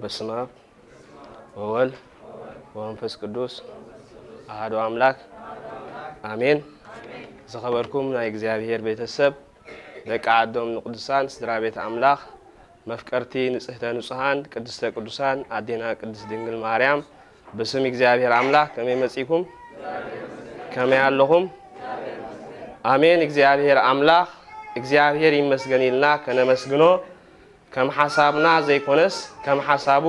በስመ አብ ወወልድ ወመንፈስ ቅዱስ አሐዱ አምላክ አሜን። ዝኸበርኩም ናይ እግዚኣብሔር ቤተሰብ፣ ደቂ ዓዶም ንቅዱሳን፣ ስድራ ቤት ኣምላኽ፣ መፍቀርቲ ንጽህተ ንጹሃን ቅድስተ ቅዱሳን ኣዴና ቅድስት ድንግል ማርያም፣ ብስም እግዚኣብሔር ኣምላኽ ከመይ መጺእኩም? ከመይ ኣለኹም? ኣሜን። እግዚኣብሔር ኣምላኽ፣ እግዚኣብሔር ይመስገን ኢልና ከነመስግኖ፣ ከም ሓሳብና ዘይኮነስ ከም ሓሳቡ፣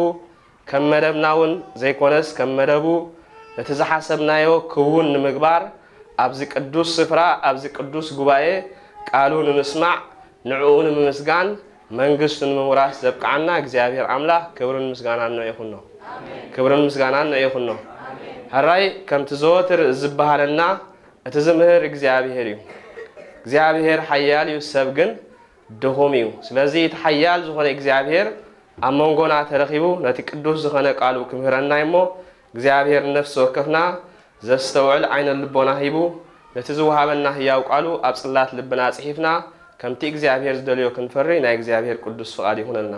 ከም መደብና እውን ዘይኮነስ ከም መደቡ፣ ነቲ ዝሓሰብናዮ ክውን ንምግባር፣ ኣብዚ ቅዱስ ስፍራ፣ ኣብዚ ቅዱስ ጉባኤ ቃሉ ንምስማዕ፣ ንዕኡ ንምምስጋን፣ መንግስቱ ንምውራስ ዘብቅዓና እግዚኣብሔር ኣምላኽ ክብርን ምስጋናን ንዑ ይኹኖ። ክብርን ምስጋናን ንዑ ይኹኖ። ሕራይ ከምቲ ዘወትር ዝበሃለና፣ እቲ ዝምህር እግዚኣብሔር እዩ። እግዚኣብሔር ሓያል እዩ፣ ሰብ ግን ድኹም እዩ። ስለዚ እቲ ሓያል ዝኾነ እግዚኣብሔር ኣብ መንጎና ተረኺቡ ነቲ ቅዱስ ዝኾነ ቃሉ ክምህረና እሞ፣ እግዚኣብሔር ንነፍሲ ወከፍና ዘስተውዕል ዓይነ ልቦና ሂቡ፣ ነቲ ዝወሃበና ህያው ቃሉ ኣብ ጽላት ልብና ጽሒፍና፣ ከምቲ እግዚኣብሔር ዝደልዮ ክንፈሪ ናይ እግዚኣብሔር ቅዱስ ፍቓድ ይኹነልና።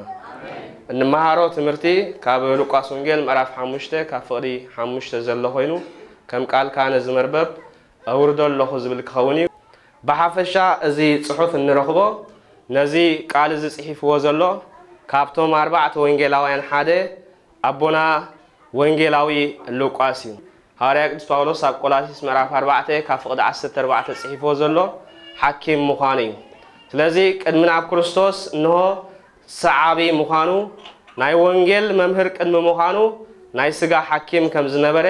እንመሃሮ ትምህርቲ ካብ ሉቃስ ወንጌል ምዕራፍ ሓሙሽተ ካብ ፍቕዲ ሓሙሽተ ዘሎ ኮይኑ፣ ከም ቃልካ ነዚ መርበብ ኣውርዶ ኣለኹ ዝብል ክኸውን እዩ። ብሓፈሻ እዚ ጽሑፍ እንረኽቦ ነዚ ቃል እዚ ጽሒፍዎ ዘሎ ካብቶም ኣርባዕተ ወንጌላውያን ሓደ ኣቦና ወንጌላዊ ሉቃስ እዩ። ሃዋርያ ቅዱስ ጳውሎስ ኣብ ቆላሲስ ምዕራፍ ኣርባዕተ ካብ ፍቕዲ ዓሰርተ ኣርባዕተ ጽሒፍዎ ዘሎ ሓኪም ምዃኑ እዩ። ስለዚ ቅድሚ ናብ ክርስቶስ እንሆ ሰዓቢ ምዃኑ፣ ናይ ወንጌል መምህር ቅድሚ ምዃኑ ናይ ስጋ ሓኪም ከም ዝነበረ፣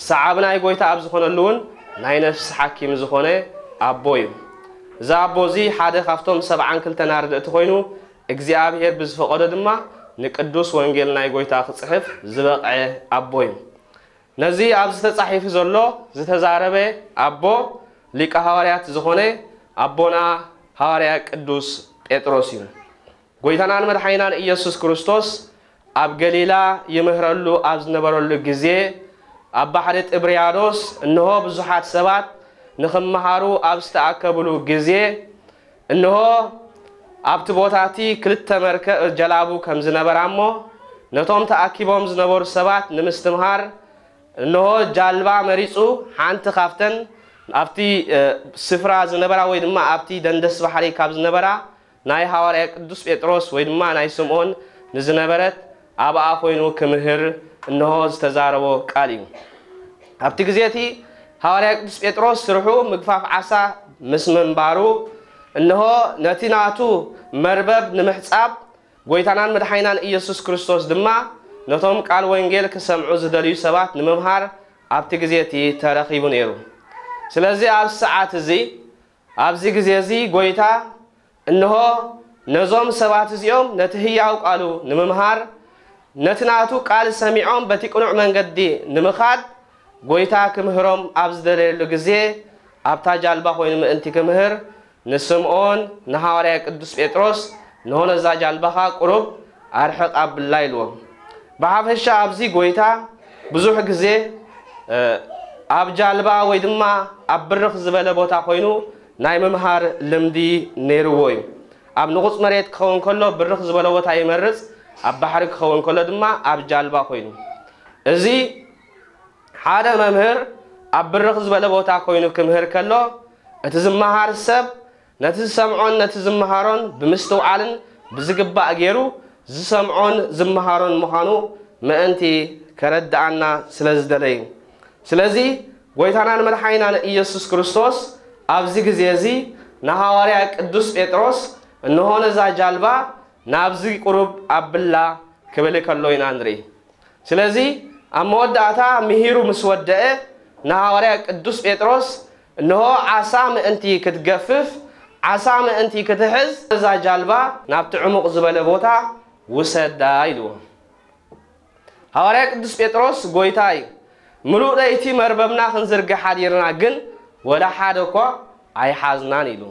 ሰዓቢ ናይ ጎይታ ኣብ ዝኾነሉ እውን ናይ ነፍሲ ሓኪም ዝኾነ ኣቦ እዩ። እዚ ኣቦ እዚ ሓደ ካብቶም ሰብዓን ክልተን ኣርድእቲ ኮይኑ፣ እግዚኣብሔር ብዝፈቐዶ ድማ ንቅዱስ ወንጌል ናይ ጎይታ ክጽሕፍ ዝበቕዐ ኣቦ እዩ። ነዚ ኣብዚ ተጻሒፉ ዘሎ ዝተዛረበ ኣቦ ሊቀ ሃዋርያት ዝኾነ ኣቦና ሃዋርያ ቅዱስ ጴጥሮስ እዩ። ጎይታናን መድሓኒናን ኢየሱስ ክርስቶስ ኣብ ገሊላ ይምህረሉ ኣብ ዝነበረሉ ግዜ፣ ኣብ ባሕሪ ጥብርያዶስ እንሆ ብዙሓት ሰባት ንኽመሃሩ ኣብ ዝተኣከብሉ ግዜ፣ እንሆ ኣብቲ ቦታ እቲ ክልተ መርከ-፣ ጀላቡ ከም ዝነበራ እሞ፣ ነቶም ተኣኪቦም ዝነበሩ ሰባት ንምስትምሃር፣ እንሆ ጃልባ መሪጹ፣ ሓንቲ ካብተን ኣብቲ፣ እ፣ ስፍራ ዝነበራ ወይ ድማ ኣብቲ ደንደስ ባሕሪ ካብ ዝነበራ ናይ ሃዋርያ ቅዱስ ጴጥሮስ ወይ ድማ ናይ ስምዖን ንዝነበረት ኣብኣ ኮይኑ ክምህር እንሆ ዝተዛረቦ ቃል እዩ። ኣብቲ ግዜ እቲ ሃዋርያ ቅዱስ ጴጥሮስ ስርሑ ምግፋፍ ዓሳ ምስ ምንባሩ፣ እንሆ ነቲ ናቱ መርበብ ንምሕጻብ፣ ጎይታናን መድሓኒናን ኢየሱስ ክርስቶስ ድማ ነቶም ቃል ወንጌል ክሰምዑ ዝደልዩ ሰባት ንምምሃር ኣብቲ ግዜ እቲ ተረኺቡ ነይሩ። ስለዚ ኣብዚ ሰዓት እዚ፣ ኣብዚ ግዜ እዚ ጎይታ እንሆ ነዞም ሰባት እዚኦም ነቲ ህያው ቃሉ ንምምሃር፣ ነቲ ናቱ ቃል ሰሚዖም በቲ ቅኑዕ መንገዲ ንምኻድ ጎይታ ክምህሮም ኣብ ዝደለየሉ ግዜ፣ ኣብታ ጃልባ ኮይኑ ምእንቲ ክምህር፣ ንስምዖን ንሃዋርያ ቅዱስ ጴጥሮስ፣ እንሆ ነዛ ጃልባኻ ቁሩብ ኣርሕቕ ኣብላ ኢልዎ። ብሓፈሻ ኣብዚ ጎይታ ብዙሕ ግዜ፣ እ፣ ኣብ ጃልባ ወይ ድማ ኣብ ብርኽ ዝበለ ቦታ ኮይኑ ናይ ምምሃር ልምዲ ነይርዎ እዩ። ኣብ ንቑጽ መሬት ክኸውን ከሎ ብርኽ ዝበለ ቦታ ይመርጽ፣ ኣብ ባሕሪ ክኸውን ከሎ ድማ ኣብ ጃልባ ኮይኑ። እዚ ሓደ መምህር ኣብ ብርኽ ዝበለ ቦታ ኮይኑ ክምህር ከሎ፣ እቲ ዝመሃር ሰብ ነቲ ዝሰምዖን ነቲ ዝመሃሮን ብምስትውዓልን ብዝግባእ ገይሩ ዝሰምዖን ዝመሃሮን ምዃኑ ምእንቲ ከረድኣና ስለ ዝደለዩ። ስለዚ ጎይታናን መድሓኒናን ኢየሱስ ክርስቶስ ኣብዚ ግዜ እዚ ንሃዋርያ ቅዱስ ጴጥሮስ፣ "እንሆ ነዛ ጃልባ ናብዚ ቁሩብ ኣብላ" ክብል ከሎ ኢና ንርኢ። ስለዚ ኣብ መወዳእታ ምሂሩ ምስ ወደአ፣ ንሃዋርያ ቅዱስ ጴጥሮስ፣ "እንሆ ዓሳ ምእንቲ ክትገፍፍ፣ ዓሳ ምእንቲ ክትሕዝ፣ እዛ ጃልባ ናብቲ ዕሙቕ ዝበለ ቦታ ውሰዳ" ኢልዎ። ሃዋርያ ቅዱስ ጴጥሮስ፣ "ጎይታይ፣ ምሉእ ለይቲ መርበብና ክንዝርግሕ ሓዲርና፣ ግን ወላ ሓደ እኳ ኣይሓዝናን" ኢሉ።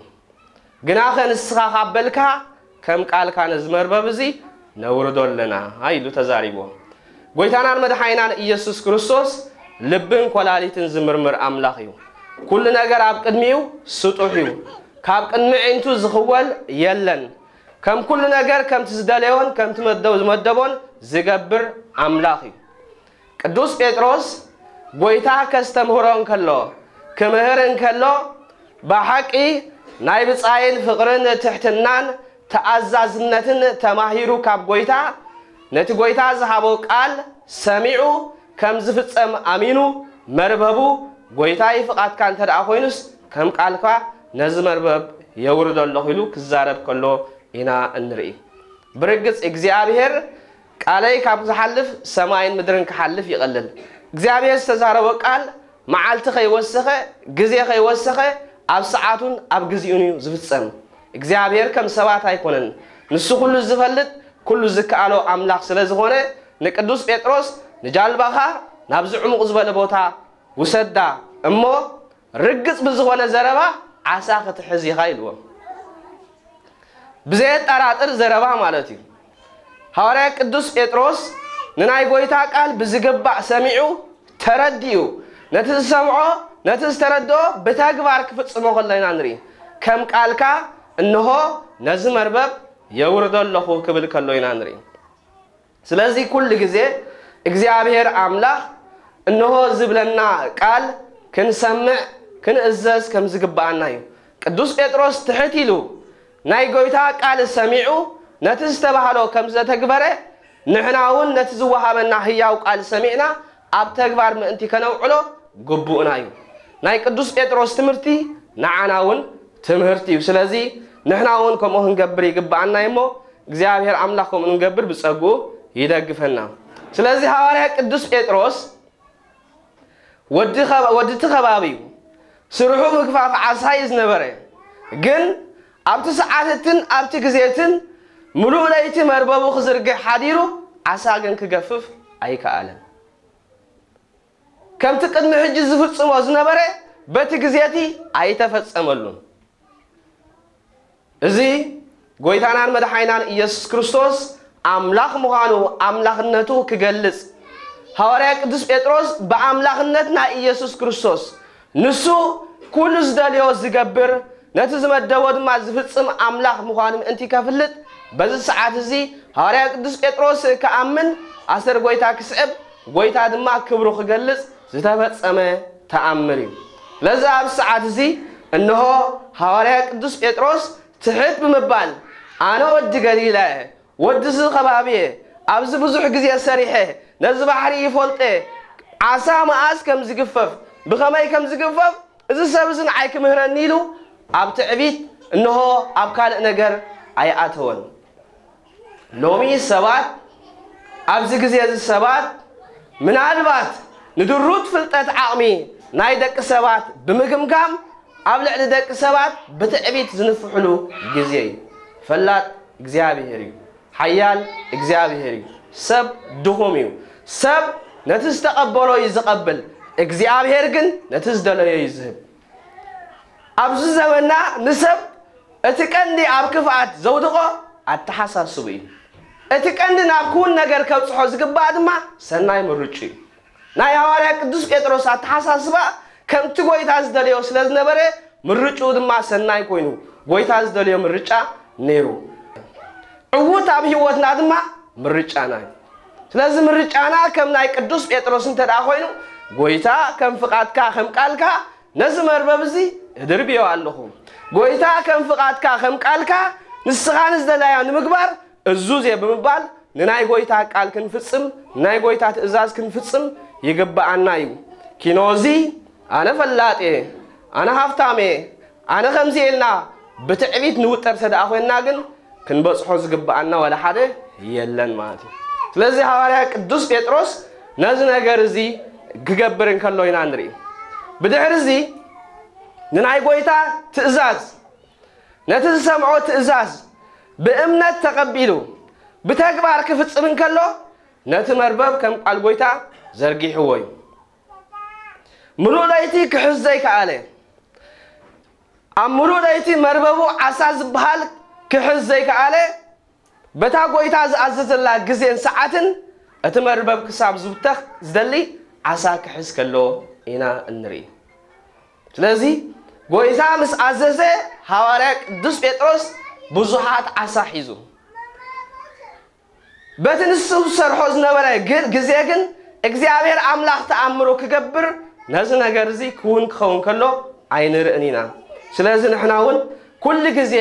ግናኸ ንስኻ ካብ በልካ፣ ከም ቃልካ ነዚ መርበብ እዚ ነውርዶ ኣለና ኢሉ ተዛሪብዎም። ጎይታናን መድሓኒናን ኢየሱስ ክርስቶስ ልብን ኮላሊትን ዝምርምር ኣምላኽ እዩ። ኩሉ ነገር ኣብ ቅድሚኡ ስጡሕ እዩ። ካብ ቅድሚ ኣዒንቱ ዝኽወል የለን። ከም ኩሉ ነገር ከምቲ ዝደለዮን ከምቲ መደብ ዝመደቦን ዝገብር ኣምላኽ እዩ። ቅዱስ ጴጥሮስ ጎይታ ከስተምህሮ እንከሎ፣ ክምህር እንከሎ፣ ብሓቂ ናይ ብጻይን ፍቕርን ትሕትናን ተኣዛዝነትን ተማሂሩ ካብ ጎይታ፣ ነቲ ጎይታ ዝሃቦ ቃል ሰሚዑ ከም ዝፍጸም ኣሚኑ፣ መርበቡ፣ "ጎይታይ፣ ፍቓድካ እንተ ደኣ ኮይኑስ፣ ከም ቃልካ ነዚ መርበብ የውርዶ ኣለኹ" ኢሉ ክዛረብ ከሎ ኢና እንርኢ። ብርግጽ እግዚኣብሔር ቃለይ ካብ ዝሓልፍ ሰማይን ምድርን ክሓልፍ ይቐልል። እግዚኣብሔር ዝተዛረቦ ቃል መዓልቲ ከይወሰኸ፣ ግዜ ከይወሰኸ፣ ኣብ ሰዓቱን ኣብ ግዜኡን እዩ ዝፍጸም። እግዚኣብሔር ከም ሰባት ኣይኮነን። ንሱ ኩሉ ዝፈልጥ፣ ኩሉ ዝከኣሎ ኣምላኽ ስለ ዝኾነ፣ ንቅዱስ ጴጥሮስ፣ "ንጃልባኻ ናብዚ ዕሙቕ ዝበለ ቦታ ውሰዳ እሞ፣ ርግጽ ብዝኾነ ዘረባ ዓሳ ክትሕዝ ኢኻ" ኢልዎ። ብዘየጠራጥር ዘረባ ማለት እዩ። ሃዋርያ ቅዱስ ጴጥሮስ ንናይ ጎይታ ቃል ብዝግባእ ሰሚዑ፣ ተረዲኡ፣ ነቲ ዝሰምዖ፣ ነቲ ዝተረድኦ ብተግባር ክፍጽሞ ከሎ ኢና ንርኢ። "ከም ቃልካ እንሆ ነዚ መርበብ የውርዶ ኣለኹ" ክብል ከሎ ኢና ንርኢ። ስለዚ ኩሉ ግዜ እግዚኣብሔር ኣምላኽ እንሆ ዝብለና ቃል ክንሰምዕ፣ ክንእዘዝ ከም ዝግብኣና እዩ። ቅዱስ ጴጥሮስ ትሕት ኢሉ ናይ ጎይታ ቃል ሰሚዑ ነቲ ዝተባህሎ ከም ዘተግበረ፣ ንሕና እውን ነቲ ዝወሃበና ህያው ቃል ሰሚዕና ኣብ ተግባር ምእንቲ ከነውዕሎ ግቡእና እዩ። ናይ ቅዱስ ጴጥሮስ ትምህርቲ ንዓና እውን ትምህርቲ እዩ። ስለዚ ንሕና እውን ከምኡ ክንገብር ይግብኣና እዩ እሞ፣ እግዚኣብሔር ኣምላኽ ከምኡ ንገብር ብጸግኡ ይደግፈና። ስለዚ ሃዋርያ ቅዱስ ጴጥሮስ ወዲ ኸባ-፣ ወዲ እቲ ከባቢ እዩ። ስርሑ ምግፋፍ ዓሳ እዩ ዝነበረ። ግን ኣብቲ ሰዓትትን ኣብቲ ግዜትን ምሉእ ለይቲ መርበቡ ክዝርግሕ ሓዲሩ፣ ዓሳ ግን ክገፍፍ ኣይከኣለን። ከምቲ ቅድሚ ሕጂ ዝፍጽሞ ዝነበረ በቲ ግዜቲ ኣይተፈጸመሉን። እዚ ጎይታናን መድሓኒናን ኢየሱስ ክርስቶስ ኣምላኽ ምዃኑ፣ ኣምላኽነቱ ክገልጽ፣ ሃዋርያ ቅዱስ ጴጥሮስ ብኣምላኽነት ናይ ኢየሱስ ክርስቶስ፣ ንሱ ኩሉ ዝደልዮ ዝገብር፣ ነቲ ዝመደቦ ድማ ዝፍጽም ኣምላኽ ምዃኑ ምእንቲ ከፍልጥ፣ በዚ ሰዓት እዚ ሃዋርያ ቅዱስ ጴጥሮስ ክኣምን፣ ኣሰር ጎይታ ክስዕብ፣ ጎይታ ድማ ክብሩ ክገልጽ ዝተፈጸመ ተኣምር እዩ። ስለዚ ኣብዚ ሰዓት እዚ እንሆ ሃዋርያ ቅዱስ ጴጥሮስ ትሕት ብምባል፣ "ኣነ ወዲ ገሊላ እየ፣ ወዲ እዚ ከባቢ እየ፣ ኣብዚ ብዙሕ ግዜ ሰሪሐ፣ ነዚ ባሕሪ ይፈልጦ እየ፣ ዓሳ መኣስ ከም ዝግፈፍ፣ ብኸመይ ከም ዝግፈፍ፣ እዚ ሰብ እዚ ንዓይ ክምህረኒ" ኢሉ ኣብ ትዕቢት፣ እንሆ ኣብ ካልእ ነገር ኣይኣተወን። ሎሚ ሰባት፣ ኣብዚ ግዜ እዚ ሰባት ምናልባት ንድሩት ፍልጠት ዓቕሚ ናይ ደቂ ሰባት ብምግምጋም ኣብ ልዕሊ ደቂ ሰባት ብትዕቢት ዝንፍሕሉ ግዜ እዩ። ፈላጥ እግዚኣብሔር እዩ። ሓያል እግዚኣብሔር እዩ። ሰብ ድኹም እዩ። ሰብ ነቲ ዝተቐበሎ እዩ ዝቐብል። እግዚኣብሔር ግን ነቲ ዝደለዮ እዩ ዝህብ። ኣብዚ ዘመንና ንሰብ እቲ ቀንዲ ኣብ ክፍኣት ዘውድቖ ኣተሓሳስቡ እዩ። እቲ ቀንዲ ናብ ክውን ነገር ከብጽሖ ዝግባእ ድማ ሰናይ ምርጩ እዩ። ናይ ሃዋርያ ቅዱስ ጴጥሮስ ኣተሓሳስባ ከምቲ ጎይታ ዝደለዮ ስለ ዝነበረ፣ ምርጭኡ ድማ ሰናይ ኮይኑ፣ ጎይታ ዝደለዮ ምርጫ ነይሩ። ዕዉት ኣብ ህይወትና ድማ ምርጫና እዩ። ስለዚ ምርጫና ከም ናይ ቅዱስ ጴጥሮስ እንተ ደኣ ኮይኑ፣ "ጎይታ ከም ፍቓድካ ከም ቃልካ ነዚ መርበብ እዚ እድርብዮ ኣለኹ። ጎይታ ከም ፍቓድካ ከም ቃልካ ንስኻ ንዝደላዮ ንምግባር እዙዝ እየ" ብምባል ንናይ ጎይታ ቃል ክንፍጽም፣ ናይ ጎይታ ትእዛዝ ክንፍጽም ይግብኣና እዩ። ኪኖ እዚ ኣነ ፈላጥ እየ፣ ኣነ ሃብታም እየ፣ ኣነ ከምዚ ኢልና ብትዕቢት ንውጠር እንተ ደኣ ኮይንና ግን ክንበጽሖ ዝግብኣና ዋላ ሓደ የለን ማለት እዩ። ስለዚ ሃዋርያ ቅዱስ ጴጥሮስ ነዚ ነገር እዚ ክገብር እንከሎ ኢና ንርኢ። ብድሕሪ እዚ ንናይ ጎይታ ትእዛዝ፣ ነቲ ዝሰምዖ ትእዛዝ ብእምነት ተቐቢሉ ብተግባር ክፍጽም እንከሎ፣ ነቲ መርበብ ከም ቃል ጎይታ ዘርጊሕዎ እዩ። ምሉእ ለይቲ ክሕዝ ዘይከኣለ፣ ኣብ ምሉእ ለይቲ መርበቡ ዓሳ ዝበሃል ክሕዝ ዘይከኣለ፣ በታ ጎይታ ዝኣዘዘላ ግዜን ሰዓትን እቲ መርበብ ክሳብ ዝውተኽ ዝደሊ ዓሳ ክሕዝ ከሎ ኢና እንርኢ። ስለዚ ጎይታ ምስ ኣዘዘ፣ ሃዋርያ ቅዱስ ጴጥሮስ ብዙሓት ዓሳ ሒዙ። በቲ ንሱ ዝሰርሖ ዝነበረ ግ- ግዜ ግን እግዚኣብሔር ኣምላኽ ተኣምሮ ክገብር ነዚ ነገር እዚ ክውን ክኸውን ከሎ ኣይንርእን ኢና። ስለዚ ንሕና እውን ኩሉ ግዜ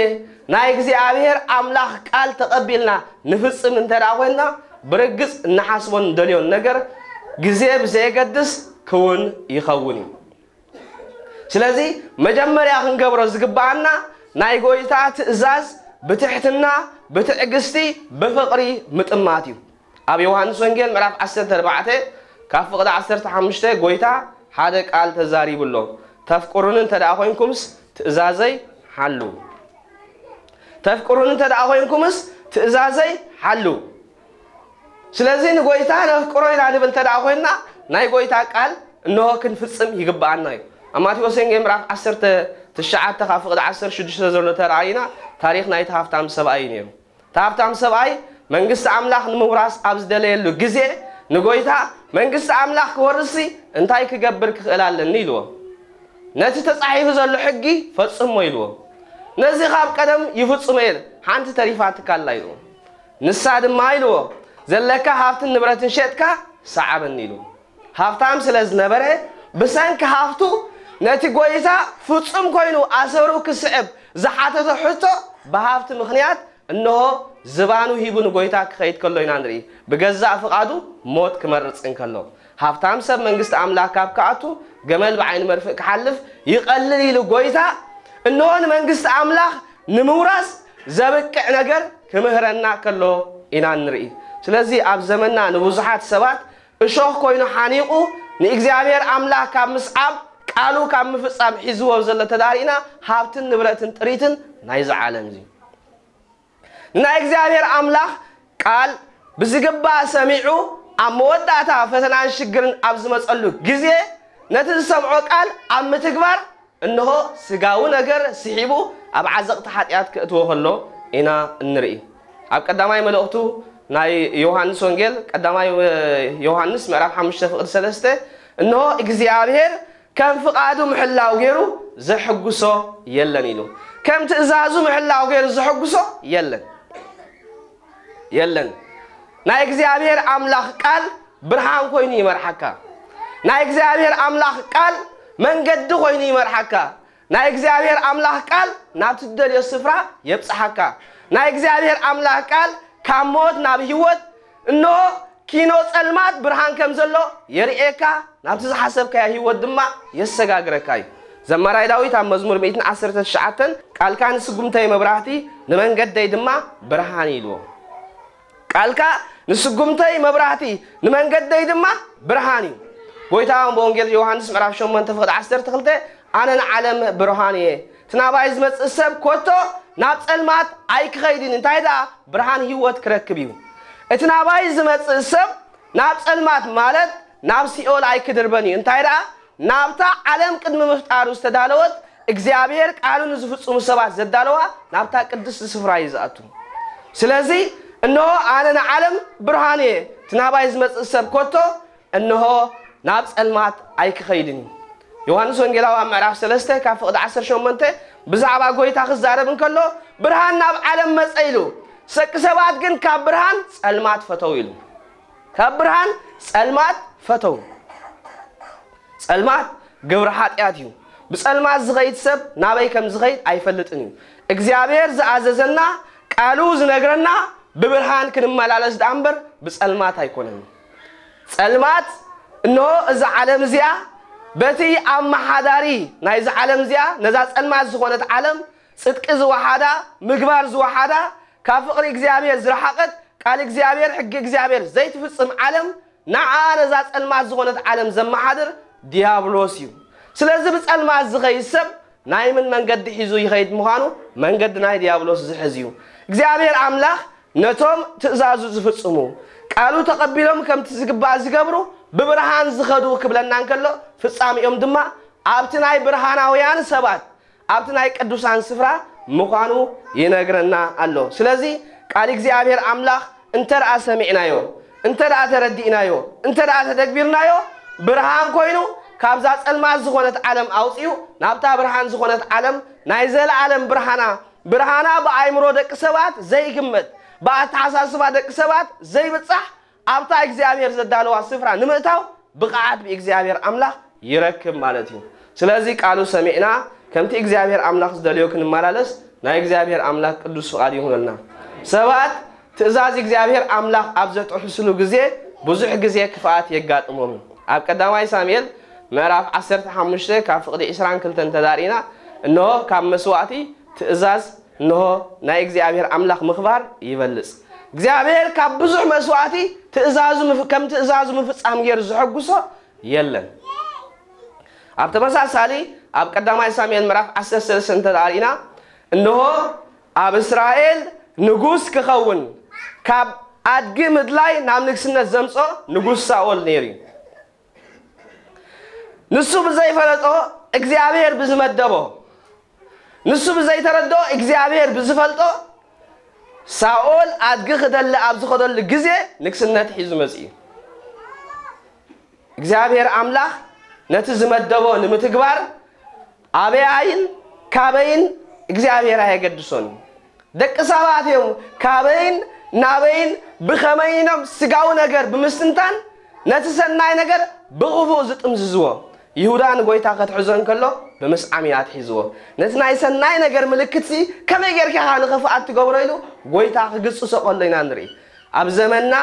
ናይ እግዚኣብሔር ኣምላኽ ቃል ተቐቢልና ንፍጽም እንተ ደኣ ኮይንና፣ ብርግጽ እንሓስቦን እንደልዮን ነገር ግዜ ብዘየገድስ ክውን ይኸውን እዩ። ስለዚ መጀመርያ ክንገብሮ ዝግብኣና ናይ ጎይታ ትእዛዝ ብትሕትና፣ ብትዕግስቲ፣ ብፍቕሪ ምጥማት እዩ። ኣብ ዮሃንስ ወንጌል ምዕራፍ ዓሰርተ ኣርባዕተ ካብ ፍቕዲ ዓሰርተ ሓሙሽተ ጎይታ ሓደ ቃል ተዛሪቡ ኣሎ። "ተፍቅሩኒ እንተ ደኣ ኮይንኩምስ ትእዛዘይ ሓልዉ። ተፍቅሩኒ እንተ ደኣ ኮይንኩምስ ትእዛዘይ ሓልዉ።" ስለዚ ንጎይታ ነፍቅሮ ኢና ንብል እንተ ደኣ ኮይንና፣ ናይ ጎይታ ቃል እንሆ ክንፍጽም ይግብኣና እዩ። ኣብ ማቴዎስ ወንጌል ምዕራፍ ዓሰርተ ትሽዓተ ካብ ፍቕዲ ዓሰርተ ሽዱሽተ ዘሎ ተራእይና፣ ታሪኽ ናይቲ ሃብታም ሰብኣይ እዩ ነይሩ። እቲ ሃብታም ሰብኣይ መንግስቲ ኣምላኽ ንምውራስ ኣብ ዝደለየሉ ግዜ፣ ንጎይታ፣ "መንግስቲ ኣምላኽ ክወርስሲ እንታይ ክገብር ክኽእል ኣለኒ?" ኢልዎ። "ነቲ ተጻሒፉ ዘሎ ሕጊ ፈጽሞ" ኢልዎ። "ነዚ ካብ ቀደም ይፍጽሞ እየ፣ ሓንቲ ተሪፋትካ ኣላ" ኢልዎ። ንሳ ድማ ኢልዎ፣ "ዘለካ ሃብትን ንብረትን ሸጥካ ሰዓበኒ" ኢልዎ። ሃብታም ስለ ዝነበረ፣ ብሰንኪ ሃብቱ ነቲ ጎይታ ፍጹም ኮይኑ ኣሰሩ ክስዕብ ዝሓተቶ ሕቶ ብሃብቲ ምኽንያት፣ እንሆ፣ ዝባኑ ሂቡ ንጎይታ ክኸይድ ከሎ ኢና ንርኢ። ብገዛእ ፍቓዱ ሞት ክመርጽ እንከሎ፣ ሃብታም ሰብ መንግስቲ ኣምላኽ ካብ ክኣቱ፣ ገመል ብዓይኒ መርፍእ ክሓልፍ ይቐልል ኢሉ ጎይታ፣ እንሆ፣ ንመንግስቲ ኣምላኽ ንምውራስ ዘብቅዕ ነገር ክምህረና ከሎ ኢና ንርኢ። ስለዚ ኣብ ዘመንና ንብዙሓት ሰባት እሾኽ ኮይኑ ሓኒቑ፣ ንእግዚኣብሔር ኣምላኽ ካብ ምስዓብ፣ ቃሉ ካብ ምፍጻም ሒዝዎ ዘሎ ተዳሪእና፣ ሃብትን ንብረትን ጥሪትን ናይዚ ዓለም እዚ። ንናይ እግዚኣብሔር ኣምላኽ ቃል ብዝግባእ ሰሚዑ፣ ኣብ መወዳእታ ፈተናን ሽግርን ኣብ ዝመጸሉ ግዜ፣ ነቲ ዝሰምዖ ቃል ኣብ ምትግባር፣ እንሆ፣ ስጋዊ ነገር ስሒቡ ኣብ ዓዘቕቲ ሓጢኣት ከእትዎ ከሎ ኢና እንርኢ። ኣብ ቀዳማይ መልእኽቱ ናይ ዮሃንስ ወንጌል፣ ቀዳማይ ዮሃንስ ምዕራፍ ሓሙሽተ ፍቕዲ ሰለስተ፣ እንሆ፣ እግዚኣብሔር ከም ፍቓዱ ምሕላው ገይሩ ዘሕጉሶ የለን ኢሉ። ከም ትእዛዙ ምሕላው ገይሩ ዘሕጉሶ የለን። የለን። ናይ እግዚኣብሔር ኣምላኽ ቃል ብርሃን ኮይኑ ይመርሓካ። ናይ እግዚኣብሔር ኣምላኽ ቃል መንገዲ ኮይኑ ይመርሓካ። ናይ እግዚኣብሔር ኣምላኽ ቃል ናብቲ ትደልዮ ስፍራ የብጽሓካ። ናይ እግዚኣብሔር ኣምላኽ ቃል ካብ ሞት ናብ ህይወት፣ እንሆ ኪኖ ጸልማት ብርሃን ከም ዘሎ የርእየካ፣ ናብቲ ዝሓሰብካዮ ህይወት ድማ የሰጋግረካ እዩ። ዘማራይ ዳዊት ኣብ መዝሙር ሚእትን ዓሰርተ ትሽዓተን፣ "ቃልካ ንስጉምተይ መብራህቲ፣ ንመንገደይ ድማ ብርሃን" ኢልዎ። ቃልካ ንስጉምተይ መብራህቲ፣ ንመንገደይ ድማ ብርሃን እዩ። ጎይታ እውን ብወንጌል ዮሃንስ ምዕራፍ ሸሞንተ ፍቕዲ ዓሰርተ ክልተ፣ "ኣነ ንዓለም ብርሃን እየ፣ እቲ ናባይ ዝመጽእ ሰብ ኮቶ ናብ ጸልማት ኣይክኸይድን፣ እንታይ ደኣ ብርሃን ህይወት ክረክብ እዩ።" እቲ ናባይ ዝመጽእ ሰብ ናብ ጸልማት፣ ማለት ናብ ሲኦል ኣይክድርበን እዩ። እንታይ ደኣ ናብታ ዓለም ቅድሚ ምፍጣሩ ዝተዳለወት፣ እግዚኣብሔር ቃሉ ንዝፍጽሙ ሰባት ዘዳለዋ ናብታ ቅድስቲ ስፍራ እዩ ዝኣቱ። ስለዚ እንሆ ኣነ ንዓለም ብርሃን እየ፣ እቲ ናባይ ዝመጽእ ሰብ ኮቶ እንሆ ናብ ጸልማት ኣይክኸይድን እዩ። ዮሃንስ ወንጌላዊ ኣብ ምዕራፍ ሰለስተ ካብ ፍቕዲ ዓሰርተ ሸሞንተ ብዛዕባ ጎይታ ክዛረብ እንከሎ፣ "ብርሃን ናብ ዓለም መጸ" ኢሉ፣ "ደቂ ሰባት ግን ካብ ብርሃን ጸልማት ፈተው" ኢሉ። ካብ ብርሃን ጸልማት ፈተው። ጸልማት ግብሪ ሓጢኣት እዩ። ብጸልማት ዝኸይድ ሰብ ናበይ ከም ዝኸይድ ኣይፈልጥን እዩ። እግዚኣብሔር ዝኣዘዘና፣ ቃሉ ዝነግረና፣ ብብርሃን ክንመላለስ ደኣ እምበር ብጸልማት ኣይኮነን። ጸልማት፣ እንሆ እዛ ዓለም እዚኣ በቲ ኣመሓዳሪ ናይዛ ዓለም እዚኣ፣ ነዛ ጸልማት ዝኾነት ዓለም፣ ጽድቂ ዝወሓዳ፣ ምግባር ዝወሓዳ፣ ካብ ፍቕሪ እግዚኣብሔር ዝረሓቐት፣ ቃል እግዚኣብሔር፣ ሕጊ እግዚኣብሔር ዘይትፍጽም ዓለም፣ ንዓ ነዛ ጸልማት ዝኾነት ዓለም ዘመሓድር ዲያብሎስ እዩ። ስለዚ ብጸልማት ዝኸይድ ሰብ ናይ ምን መንገዲ ሒዙ ይኸይድ ምዃኑ፣ መንገዲ ናይ ዲያብሎስ ዝሕዝ እዩ። እግዚኣብሔር ኣምላኽ ነቶም ትእዛዙ ዝፍጽሙ፣ ቃሉ ተቐቢሎም ከምቲ ዝግባእ ዝገብሩ፣ ብብርሃን ዝኸዱ ክብለና እንከሎ፣ ፍጻሜኦም ድማ ኣብቲ ናይ ብርሃናውያን ሰባት፣ ኣብቲ ናይ ቅዱሳን ስፍራ ምዃኑ ይነግረና ኣሎ። ስለዚ ቃል እግዚኣብሔር ኣምላኽ እንተ ደኣ ሰሚዕናዮ፣ እንተ ደኣ ተረዲእናዮ፣ እንተ ደኣ ተተግቢርናዮ፣ ብርሃን ኮይኑ ካብዛ ጸልማት ዝኾነት ዓለም ኣውጺኡ ናብታ ብርሃን ዝኾነት ዓለም ናይ ዘለዓለም ብርሃና፣ ብርሃና ብኣእምሮ ደቂ ሰባት ዘይግመት፣ ብኣተሓሳስባ ደቂ ሰባት ዘይብጻሕ ኣብታ እግዚኣብሔር ዘዳለዋ ስፍራ ንምእታው ብቕዓት ብእግዚኣብሔር ኣምላኽ ይረክብ ማለት እዩ። ስለዚ ቃሉ ሰሚዕና ከምቲ እግዚኣብሔር ኣምላኽ ዝደልዮ ክንመላለስ ናይ እግዚኣብሔር ኣምላኽ ቅዱስ ፍቓድ ይኹነልና። ሰባት ትእዛዝ እግዚኣብሔር ኣምላኽ ኣብ ዘጥሕስሉ ግዜ ብዙሕ ግዜ ክፍኣት የጋጥሞም እዩ። ኣብ ቀዳማይ ሳሙኤል ምዕራፍ ዓሰርተ ሓሙሽተ ካብ ፍቕዲ ዕስራን ክልተን ተዳሪና፣ እንሆ ካብ መስዋእቲ ትእዛዝ እንሆ ናይ እግዚኣብሔር ኣምላኽ ምኽባር ይበልጽ። እግዚኣብሔር ካብ ብዙሕ መስዋእቲ ትእዛዙ ምፍ-፣ ከም ትእዛዙ ምፍጻም ገይሩ ዘሐጉሶ የለን። ኣብ ተመሳሳሊ ኣብ ቀዳማይ ሳሙኤል ምዕራፍ ዓሰርተ ሰለስተ እንተ ደኣ ርኢና፣ እንሆ ኣብ እስራኤል ንጉስ ክኸውን ካብ ኣድጊ ምድላይ ናብ ንግስነት ዘምጾ ንጉስ ሳኦል ነይሩ እዩ። ንሱ ብዘይፈለጦ እግዚኣብሔር ብዝመደቦ፣ ንሱ ብዘይተረድኦ እግዚኣብሔር ብዝፈልጦ ሳኦል ኣድጊ ክደሊ ኣብ ዝኸደሉ ግዜ ንግስነት ሒዙ መጺኡ። እግዚኣብሔር ኣምላኽ ነቲ ዝመደቦ ንምትግባር ኣበያይን ካበይን እግዚኣብሔር ኣየገድሶን እዩ። ደቂ ሰባት እዮም ካበይን ናበይን ብኸመይኖም ስጋዊ ነገር ብምስትንታን ነቲ ሰናይ ነገር ብኽፉእ ዝጥምዝዝዎ። ይሁዳ ንጎይታ ከትሕዞ እንከሎ ብምስዓም እዩ ኣትሒዝዎ። ነቲ ናይ ሰናይ ነገር ምልክትሲ ከመይ ጌርካ ኢኻ ንኽፍኣት ትገብሮ ኢሉ ጎይታ ክግጽሶ ከሎ ኢና ንርኢ። ኣብ ዘመንና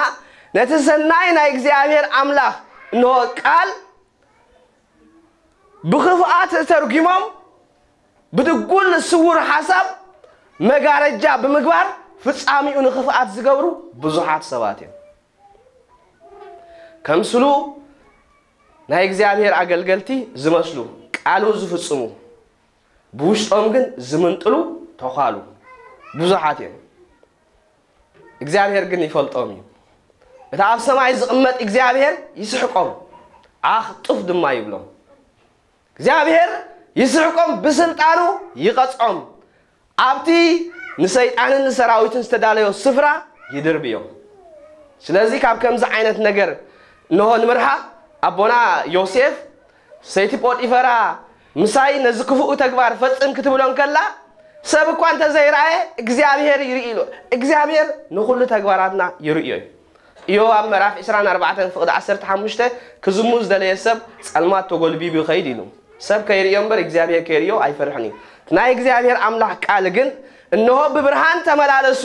ነቲ ሰናይ ናይ እግዚኣብሔር ኣምላኽ እንሆ ቃል ብኽፍኣት ተርጒሞም ብድጉል ስውር ሓሳብ መጋረጃ ብምግባር ፍጻሚኡ ንኽፍኣት ዝገብሩ ብዙሓት ሰባት እዮም። ከምስሉ ናይ እግዚኣብሔር ኣገልገልቲ ዝመስሉ ቃሉ ዝፍጽሙ ብውሽጦም ግን ዝምንጥሉ ተዃሉ ብዙሓት እዮም። እግዚኣብሔር ግን ይፈልጦም እዩ። እቲ ኣብ ሰማይ ዝቕመጥ እግዚኣብሔር ይስሕቆም፣ ዓኽ ጡፍ ድማ ይብሎም። እግዚኣብሔር ይስሕቆም፣ ብስልጣኑ ይቐጽዖም፣ ኣብቲ ንሰይጣንን ንሰራዊትን ዝተዳለዮ ስፍራ ይድርብዮም። ስለዚ ካብ ከምዚ ዓይነት ነገር እንሆ ንምርሓቕ ኣቦና ዮሴፍ ሰይቲ ጶጢፈራ ምሳይ ነዚ ክፉእ ተግባር ፈጽም ክትብሎ እንከላ ሰብ እኳ እንተዘይረኣየ እግዚኣብሔር ይርኢ ኢሉ። እግዚኣብሔር ንኹሉ ተግባራትና ይርእዮ እዩ። ኢዮብ ኣብ ምዕራፍ ዕስራን ኣርባዕተን ፍቕዲ ዓሰርተ ሓሙሽተ ክዝሙ ዝደለየ ሰብ ጸልማት ተጎልቢቡ ይኸይድ ኢሉ። ሰብ ከይርእዮ እምበር እግዚኣብሔር ከይርእዮ ኣይፈርሕን እዩ። ናይ እግዚኣብሔር ኣምላኽ ቃል ግን እንሆ ብብርሃን ተመላለሱ፣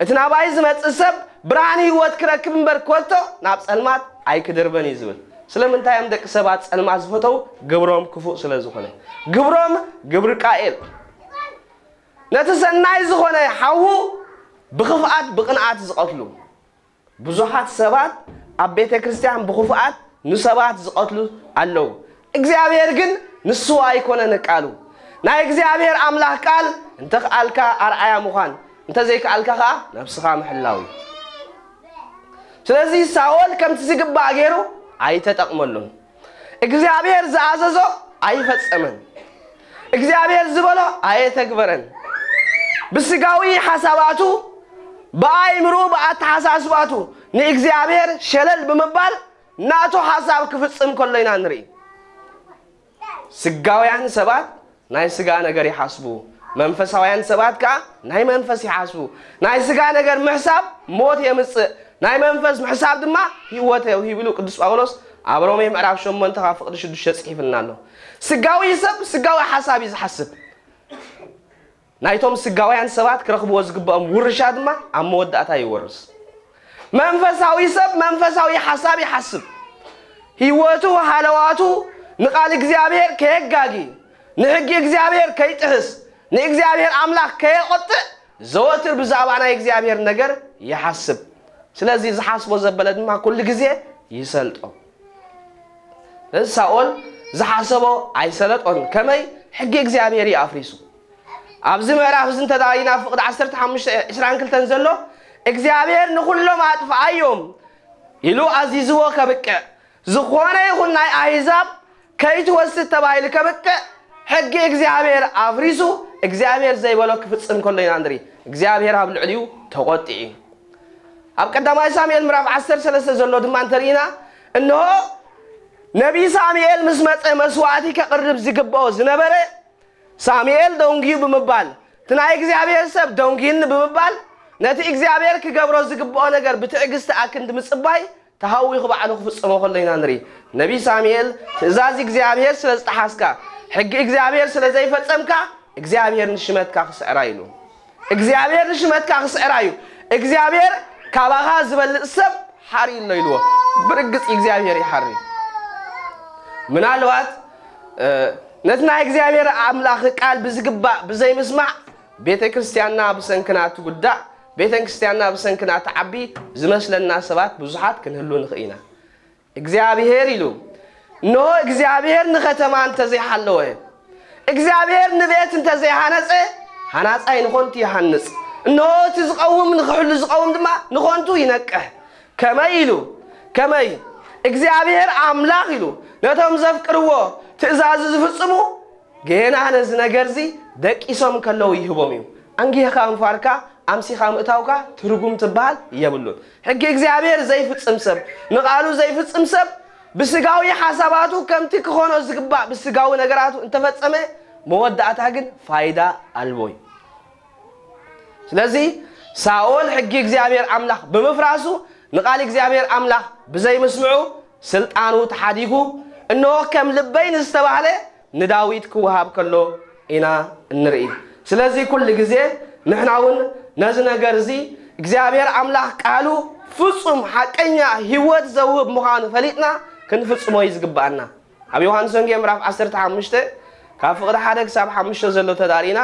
እቲ ናባይ ዝመጽእ ሰብ ብርሃን ህይወት ክረክብ እምበር ኮቶ ናብ ጸልማት ኣይክድርበን እዩ ዝብል። ስለምንታይ እዮም ደቂ ሰባት ጸልማት ዝፈተው? ግብሮም ክፉእ ስለ ዝኾነ። ግብሮም ግብሪ ቃኤል። ነቲ ሰናይ ዝኾነ ሓዉ ብኽፍኣት ብቕንኣት ዝቐትሉ ብዙሓት ሰባት ኣብ ቤተ ክርስቲያን ብኽፉኣት ንሰባት ዝቐትሉ ኣለዉ። እግዚኣብሔር ግን ንሱ ኣይኮነን ቃሉ። ናይ እግዚኣብሔር ኣምላኽ ቃል እንተ ከኣልካ ኣርኣያ ምዃን፣ እንተ ዘይከኣልካ ኸኣ ነብስኻ ምሕላው እዩ። ስለዚ ሳኦል ከምቲ ዝግባእ ገይሩ ኣይተጠቕመሉን። እግዚኣብሔር ዝኣዘዞ ኣይፈጸመን። እግዚኣብሔር ዝበሎ ኣየተግበረን። ብስጋዊ ሓሳባቱ፣ ብኣይምሩ፣ ብኣተሓሳስባቱ ንእግዚኣብሔር ሸለል ብምባል ናቱ ሓሳብ ክፍጽም ከሎ ኢና ንርኢ። ስጋውያን ሰባት ናይ ስጋ ነገር ይሓስቡ፣ መንፈሳውያን ሰባት ከኣ ናይ መንፈስ ይሓስቡ። ናይ ስጋ ነገር ምሕሳብ ሞት የምጽእ፣ ናይ መንፈስ ምሕሳብ ድማ ህይወት የውሂብ ኢሉ ቅዱስ ጳውሎስ ኣብ ሮሜ ምዕራፍ ሸሞንተ ካብ ፍቕዲ ሽዱሽተ ጽሒፍልና ኣሎ። ስጋዊ ሰብ ስጋዊ ሓሳብ እዩ ዝሓስብ። ናይቶም ስጋውያን ሰባት ክረኽብዎ ዝግብኦም ውርሻ ድማ ኣብ መወዳእታ ይወርስ። መንፈሳዊ ሰብ መንፈሳዊ ሓሳብ ይሓስብ። ህይወቱ ሃለዋቱ ንቓል እግዚኣብሔር ከየጋጊ፣ ንሕጊ እግዚኣብሔር ከይጥህስ፣ ንእግዚኣብሔር ኣምላኽ ከየቖጥእ ዘወትር ብዛዕባ ናይ እግዚኣብሔር ነገር ይሓስብ። ስለዚ ዝሓስቦ ዘበለ ድማ ኩሉ ግዜ ይሰልጦ። ስለዚ ሳኦል ዝሓሰቦ ኣይሰለጦን። ከመይ? ሕጊ እግዚኣብሔር እዩ ኣፍሪሱ። ኣብዚ ምዕራፍ እዚ እንተ ደኣ ኢና ፍቕዲ ዓሰርተ ሓሙሽተ ዕስራን ክልተን ዘሎ እግዚኣብሔር ንኹሎም ኣጥፍኣዮም ኢሉ ኣዚዝዎ ከብቅዕ፣ ዝኾነ ይኹን ናይ ኣህዛብ ከይትወስድ ተባሂሉ ከብቅዕ ሕጊ እግዚኣብሔር ኣፍሪሱ እግዚኣብሔር ዘይበሎ ክፍጽም ከሎ ኢና ንርኢ። እግዚኣብሔር ኣብ ልዕሊኡ ተቖጢዑ እዩ። ኣብ ቀዳማይ ሳሙኤል ምዕራፍ ዓሰርተ ሰለስተ ዘሎ ድማ እንተርኢና፣ እንሆ ነቢይ ሳሙኤል ምስ መጸ መስዋዕቲ ከቕርብ ዝግብኦ ዝነበረ ሳሙኤል ደንጉዩ ብምባል፣ እቲ ናይ እግዚኣብሔር ሰብ ደንጉዩኒ ብምባል፣ ነቲ እግዚኣብሔር ክገብሮ ዝግብኦ ነገር ብትዕግስቲ ኣክንዲ ምጽባይ ተሃዊኹ ባዕሉ ክፍጽሞ ከሎ ኢና ንርኢ። ነቢይ ሳሙኤል ትእዛዝ እግዚኣብሔር ስለ ዝጠሓስካ፣ ሕጊ እግዚኣብሔር ስለ ዘይፈጸምካ እግዚኣብሔር ንሽመትካ ክስዕራ ኢሉ። እግዚኣብሔር ንሽመትካ ክስዕራ እዩ። እግዚኣብሔር ካባኻ ዝበልጽ ሰብ ሓሪ ኣሎ ኢልዎ። ብርግጽ እግዚኣብሔር ይሓሪ። ምናልባት ነቲ ናይ እግዚኣብሔር ኣምላኽ ቃል ብዝግባእ ብዘይምስማዕ ቤተ ክርስቲያንና ብሰንክና ትጉዳእ፣ ቤተ ክርስቲያንና ብሰንክና ትዓቢ ዝመስለና ሰባት ብዙሓት ክንህሉ ንኽእል ኢና። እግዚኣብሔር ኢሉ፣ እንሆ እግዚኣብሔር ንኸተማ እንተዘይሓለወ፣ እግዚኣብሔር ንቤት እንተዘይሃነጸ፣ ሃናጻይ ንኾንቱ ይሃንጽ፣ እንሆ እቲ ዝቐውም ንኽሕሉ ዝቐውም ድማ ንኾንቱ ይነቅሕ። ከመይ ኢሉ፣ ከመይ እግዚኣብሔር ኣምላኽ ኢሉ ነቶም ዘፍቅርዎ ትእዛዙ ዝፍጽሙ ጌና ነዚ ነገርዚ ደቂሶም ከለዉ ይህቦም እዩ። ኣንጊህኻ ምፋርካ ኣምሲኻ ምእታውካ ትርጉም ትበሃል የብሉን። ሕጊ እግዚኣብሔር ዘይፍጽም ሰብ፣ ንቓሉ ዘይፍጽም ሰብ ብስጋዊ ሓሳባቱ ከምቲ ክኾኖ ዝግባእ ብስጋዊ ነገራቱ እንተፈጸመ መወዳእታ ግን ፋይዳ ኣልቦ እዩ። ስለዚ ሳኦል ሕጊ እግዚኣብሔር ኣምላኽ ብምፍራሱ ንቓል እግዚኣብሔር ኣምላኽ ብዘይምስምዑ ስልጣኑ ተሓዲጉ፣ እንሆ ከም ልበይ ንዝተባህለ ንዳዊት ክወሃብ ከሎ ኢና እንርኢ። ስለዚ ኩሉ ግዜ ንሕና እውን ነዚ ነገር እዚ እግዚኣብሔር ኣምላኽ ቃሉ ፍጹም ሓቀኛ ህይወት ዘውህብ ምዃኑ ፈሊጥና ክንፍጽሞ እዩ ዝግብኣና። ኣብ ዮሃንስ ወንጌል ምዕራፍ ዓሰርተ ሓሙሽተ ካብ ፍቕዲ ሓደ ክሳብ ሓሙሽተ ዘሎ ተዳሪና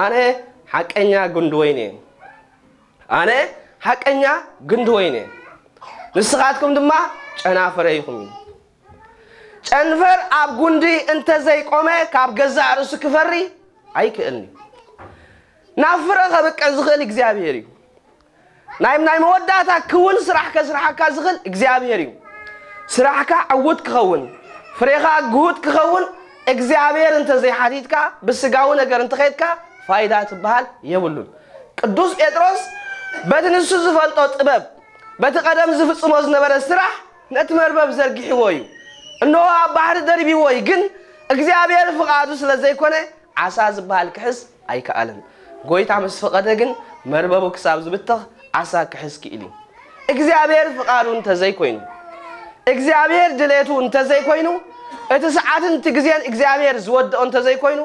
ኣነ ሓቀኛ ጉንዲ ወይን እየ። ኣነ ሓቀኛ ግንዲ ወይን እየ፣ ንስኻትኩም ድማ ጨናፍረ ኢኹም እዩ። ጨንፈር ኣብ ጉንዲ እንተዘይቆመ ካብ ገዛእ ርእሱ ክፈሪ ኣይክእልን እዩ። ናብ ፍረ ከብቅዕ ዝኽእል እግዚኣብሔር እዩ። ናይ ናይ መወዳእታ ክውን ስራሕ ከስርሓካ ዝኽእል እግዚኣብሔር እዩ። ስራሕካ ዕዉት ክኸውን፣ ፍሬኻ ግሁድ ክኸውን እግዚኣብሔር እንተዘይሓቲትካ ብስጋዊ ነገር እንተኸይድካ ፋይዳ ትበሃል የብሉን። ቅዱስ ጴጥሮስ በቲ ንሱ ዝፈልጦ ጥበብ በቲ ቀደም ዝፍጽሞ ዝነበረ ስራሕ ነቲ መርበብ ዘርጊሕዎ እዩ። እንሆ ኣብ ባሕሪ ደርቢዎ እዩ፣ ግን እግዚኣብሔር ፍቓዱ ስለ ዘይኮነ ዓሳ ዝበሃል ክሕዝ ኣይከኣለን። ጎይታ ምስ ፈቐደ ግን መርበቡ ክሳብ ዝብተኽ ዓሳ ክሕዝ ክኢል እዩ። እግዚኣብሔር ፍቓዱ እንተዘይኮይኑ፣ እግዚኣብሔር ድሌቱ እንተዘይኮይኑ፣ እቲ ሰዓትን እቲ ግዜን እግዚኣብሔር ዝወደኦ እንተዘይኮይኑ፣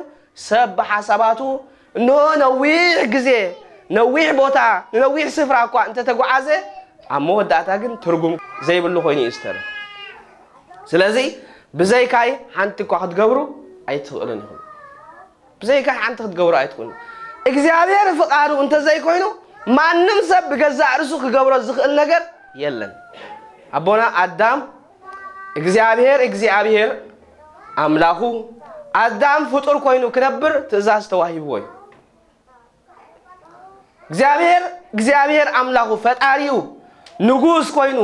ሰብ ብሓሳባቱ እንሆ ነዊሕ ግዜ፣ ነዊሕ ቦታ፣ ንነዊሕ ስፍራ እኳ እንተተጓዓዘ፣ ኣብ መወዳእታ ግን ትርጉም ዘይብሉ ኮይኑ እዩ ዝተርፍ። ስለዚ ብዘይካይ ሓንቲ እኳ ክትገብሩ ኣይትኽእሉን ኢኹም። ብዘይካይ ሓንቲ ክትገብሩ ኣይትኽእሉን። እግዚኣብሔር ፍቓዱ እንተዘይኮይኑ ማንም ሰብ ብገዛእ ርእሱ ክገብሮ ዝኽእል ነገር የለን። ኣቦና ኣዳም እግዚኣብሔር እግዚኣብሔር ኣምላኹ ኣዳም ፍጡር ኮይኑ ክነብር ትእዛዝ ተዋሂብዎ እዩ። እግዚኣብሔር እግዚኣብሔር ኣምላኹ ፈጣሪኡ ንጉስ ኮይኑ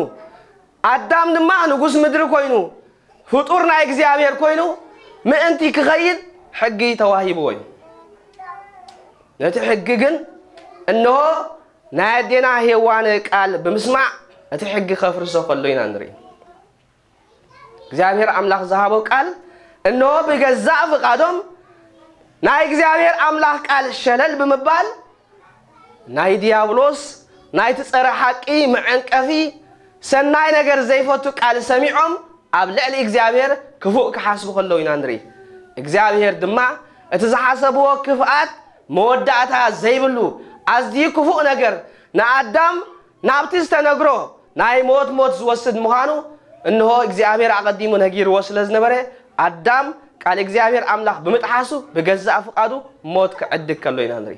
ኣዳም ድማ ንጉስ ምድሪ ኮይኑ ፍጡር ናይ እግዚኣብሔር ኮይኑ ምእንቲ ክኸይድ ሕጊ ተዋሂብዎ እዩ። ነቲ ሕጊ ግን እንሆ ናይ ኣዴና ሄዋን ቃል ብምስማዕ እቲ ሕጊ ከፍርሶ ከሎ ኢና ንርኢ። እግዚኣብሔር ኣምላኽ ዝሃቦ ቃል እንሆ ብገዛእ ፍቓዶም ናይ እግዚኣብሔር ኣምላኽ ቃል ሸለል ብምባል ናይ ዲያብሎስ ናይቲ ጸረ ሓቂ መዐንቀፊ ሰናይ ነገር ዘይፈቱ ቃል ሰሚዖም ኣብ ልዕሊ እግዚኣብሔር ክፉእ ክሓስቡ ከለዉ ኢና ንርኢ። እግዚኣብሔር ድማ እቲ ዝሓሰብዎ ክፍኣት መወዳእታ ዘይብሉ ኣዝዩ ክፉእ ነገር ንኣዳም ናብቲ ዝተነግሮ ናይ ሞት ሞት ዝወስድ ምዃኑ እንሆ እግዚኣብሔር ኣቐዲሙ ነጊርዎ ስለ ዝነበረ ኣዳም ቃል እግዚኣብሔር ኣምላኽ ብምጥሓሱ ብገዛእ ፍቓዱ ሞት ክዕድግ ከሎ ኢና ንርኢ።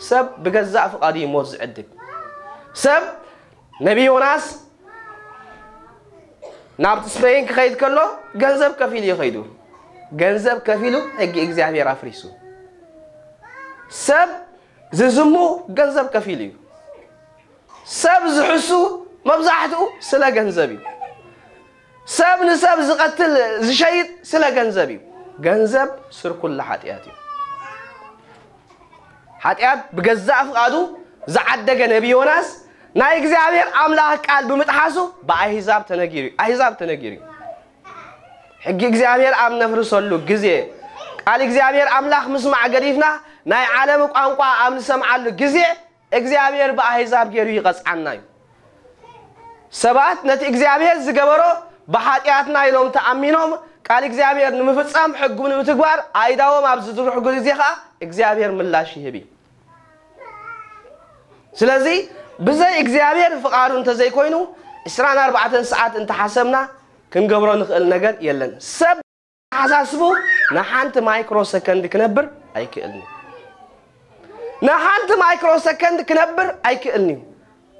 ሰብ ብገዛእ ፍቓዱ እዩ ሞት ዝዕድግ። ሰብ ነቢ ዮናስ ናብቲ ስፔን ክኸይድ ከሎ ገንዘብ ከፊሉ እዩ ኸይዱ። ገንዘብ ከፊሉ ሕጊ እግዚኣብሔር ኣፍሪሱ። ሰብ ዝዝሙ ገንዘብ ከፊሉ እዩ። ሰብ ዝሕሱ መብዛሕትኡ ስለ ገንዘብ እዩ። ሰብ ንሰብ ዝቐትል ዝሸይጥ ስለ ገንዘብ እዩ። ገንዘብ ስር ኩሉ ሓጢኣት እዩ። ሓጢኣት ብገዛእ ፍቓዱ ዝዓደገ ነቢ ዮናስ ናይ እግዚኣብሔር ኣምላኽ ቃል ብምጥሓሱ ብኣህዛብ ተነጊሩ እዩ። ኣህዛብ ተነጊሩ እዩ። ሕጊ እግዚኣብሔር ኣብ ነፍርሰሉ ግዜ፣ ቃል እግዚኣብሔር ኣምላኽ ምስማዕ ገዲፍና ናይ ዓለም ቋንቋ ኣብ ንሰምዓሉ ግዜ እግዚኣብሔር ብኣህዛብ ገይሩ ይቐጽዓና እዩ። ሰባት ነቲ እግዚኣብሔር ዝገበሮ ብሓጢኣትና ኢሎም ተኣሚኖም ቃል እግዚኣብሔር ንምፍጻም ሕጉ ንምትግባር ኣይዳዎም ኣብ ዝዝርሑ ግዜ ኸኣ እግዚኣብሔር ምላሽ ይህብ እዩ። ስለዚ ብዘይ እግዚኣብሔር ፍቓዱ እንተዘይኮይኑ ዕስራን ኣርባዕተን ሰዓት እንተሓሰብና ክንገብሮ ንኽእል ነገር የለን። ሰብ ተሓሳስቡ ንሓንቲ ማይክሮ ሰከንድ ክነብር ኣይክእልን እዩ። ንሓንቲ ማይክሮ ሰከንድ ክነብር ኣይክእልን እዩ።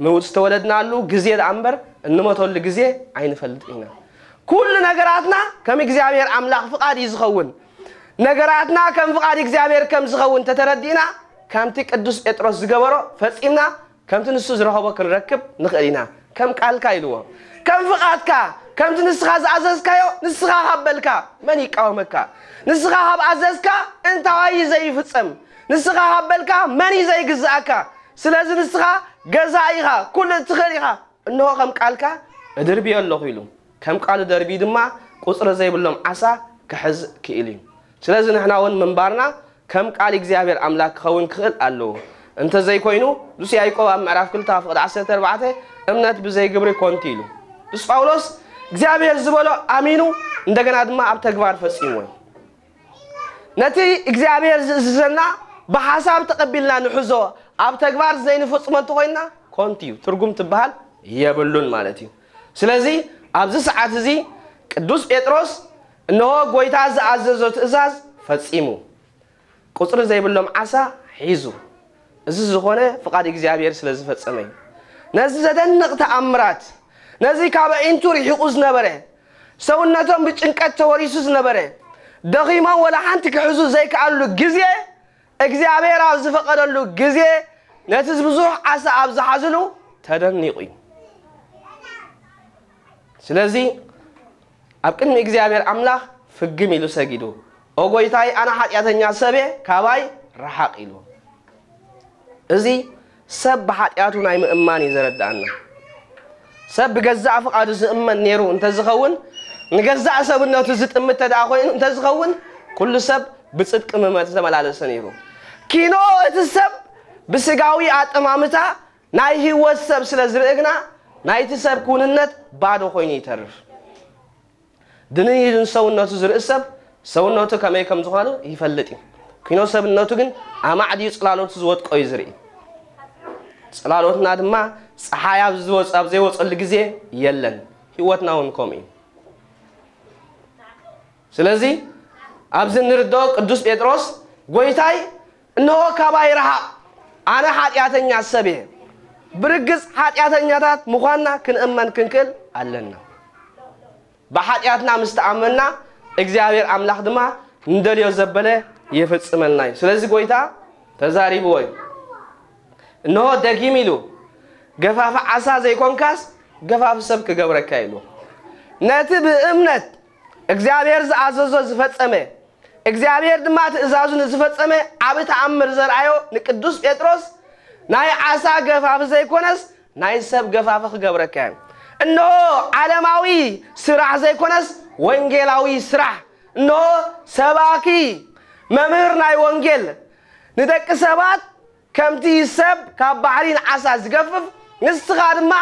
ምውት ዝተወለድናሉ ግዜ ደኣ እምበር እንሞተሉ ግዜ ኣይንፈልጥ ኢና። ኩሉ ነገራትና ከም እግዚኣብሔር ኣምላኽ ፍቓድ እዩ ዝኸውን። ነገራትና ከም ፍቓድ እግዚኣብሔር ከም ዝኸውን ተተረዲእና ከምቲ ቅዱስ ጴጥሮስ ዝገበሮ ፈጺምና ከምቲ ንሱ ዝረኸቦ ክንረክብ ንኽእል ኢና። ከም ቃልካ ኢልዎ። ከም ፍቓድካ፣ ከምቲ ንስኻ ዝኣዘዝካዮ ንስኻ ካብ በልካ መን ይቃወመካ? ንስኻ ካብ ኣዘዝካ እንታይ እዩ ዘይፍጸም? ንስኻ ካብ በልካ መን እዩ ዘይግዝኣካ? ስለዚ ንስኻ ገዛኢ ኢኻ፣ ኩሉ እትኽእል ኢኻ። እንሆ ከም ቃልካ እድርብዮ ኣለኹ ኢሉ። ከም ቃሉ ደርብዩ ድማ ቁጽሪ ዘይብሎም ዓሳ ክሕዝ ክኢሉ እዩ። ስለዚ ንሕና እውን ምንባርና ከም ቃል እግዚኣብሔር ኣምላክ ክኸውን ክኽእል ኣለዎ። እንተዘይኮይኑ ንሱ ያዕቆብ ኣብ ምዕራፍ ክልተ ፍቕዲ ዓሰርተ ኣርባዕተ እምነት ብዘይ ግብሪ ኮንቲ ኢሉ። ንስ ጳውሎስ እግዚኣብሔር ዝበሎ ኣሚኑ እንደገና ድማ ኣብ ተግባር ፈጺምዎ እዩ። ነቲ እግዚኣብሔር ዝእዝዘና ብሓሳብ ተቐቢልና ንሕዞ ኣብ ተግባር ዘይንፍጽሞ እንተኾይንና ኮንቲ እዩ። ትርጉም ትበሃል የብሉን ማለት እዩ። ስለዚ ኣብዚ ሰዓት እዚ ቅዱስ ጴጥሮስ እንሆ ጎይታ ዝኣዘዞ ትእዛዝ ፈጺሙ ቁጽሪ ዘይብሎም ዓሳ ሒዙ እዚ ዝኾነ ፍቓድ እግዚኣብሔር ስለ ዝፈጸመ እዩ። ነዚ ዘደንቕ ተኣምራት ነዚ ካብ ኣዒንቱ ርሒቑ ዝነበረ ሰውነቶም ብጭንቀት ተወሪሱ ዝነበረ ደኺሞም ወላ ሓንቲ ክሕዙ ዘይከኣሉ ግዜ እግዚኣብሔር ኣብ ዝፈቐደሉ ግዜ ነቲ ብዙሕ ዓሳ ኣብ ዝሓዝሉ ተደኒቑ እዩ። ስለዚ ኣብ ቅድሚ እግዚኣብሔር ኣምላኽ ፍግም ኢሉ ሰጊዱ፣ ኦ ጎይታይ ኣነ ሓጢኣተኛ ሰብየ ካባይ ረሓቕ ኢሉ። እዚ ሰብ ብሓጢኣቱ ናይ ምእማን እዩ ዘረድኣና። ሰብ ብገዛእ ፍቓዱ ዝእመን ነይሩ እንተዝኸውን ንገዛእ ሰብነቱ ዝጥምት ተደኣ ኮይኑ እንተዝኸውን ኩሉ ሰብ ብጽድቂ ምመ ዝተመላለሰ ነይሩ። ኪኖ እቲ ሰብ ብስጋዊ ኣጠማምታ ናይ ህይወት ሰብ ስለ ዝርኢ ግና ናይቲ ሰብ ክውንነት ባዶ ኮይኑ ይተርፍ። ድንሂዱን ሰውነቱ ዝርኢ ሰብ ሰውነቱ ከመይ ከም ዝኾነ ይፈልጥ እዩ። ኪኖ ሰብነቱ ግን ኣማዕድዩ ጽላሎቱ ዝወጥቆ እዩ ዝርኢ። ጽላሎትና ድማ ጸሓይ ኣብ ዝወጽ ኣብ ዘይወጸሉ ግዜ የለን። ህይወትና እውን ከምኡ እዩ። ስለዚ ኣብዚ እንርድኦ ቅዱስ ጴጥሮስ ጎይታይ እንሆ ካባይ ረሃቕ ኣነ ሓጢኣተኛ ሰብ እየ። ብርግጽ ሓጢኣተኛታት ምዃንና ክንእመን ክንክእል ኣለና። ብሓጢኣትና ምስ ተኣመንና እግዚኣብሔር ኣምላኽ ድማ ንደልዮ ዘበለ ይፍጽመልና እዩ። ስለዚ ጎይታ ተዛሪብዎ እዩ። እንሆ ደጊም ኢሉ ገፋፊ ዓሳ ዘይኮንካስ ገፋፊ ሰብ ክገብረካ ኢሉ ነቲ ብእምነት እግዚኣብሔር ዝኣዘዞ ዝፈጸመ እግዚኣብሔር ድማ ትእዛዙ ንዝፈጸመ ዓቢ ተኣምር ዘርኣዮ ንቅዱስ ጴጥሮስ ናይ ዓሳ ገፋፊ ዘይኮነስ ናይ ሰብ ገፋፊ ክገብረካ እየ። እንሆ ዓለማዊ ስራሕ ዘይኮነስ ወንጌላዊ ስራሕ። እንሆ ሰባኪ መምህር ናይ ወንጌል ንደቂ ሰባት ከምቲ ሰብ ካብ ባሕሪ ንዓሳ ዝገፍፍ ንስኻ ድማ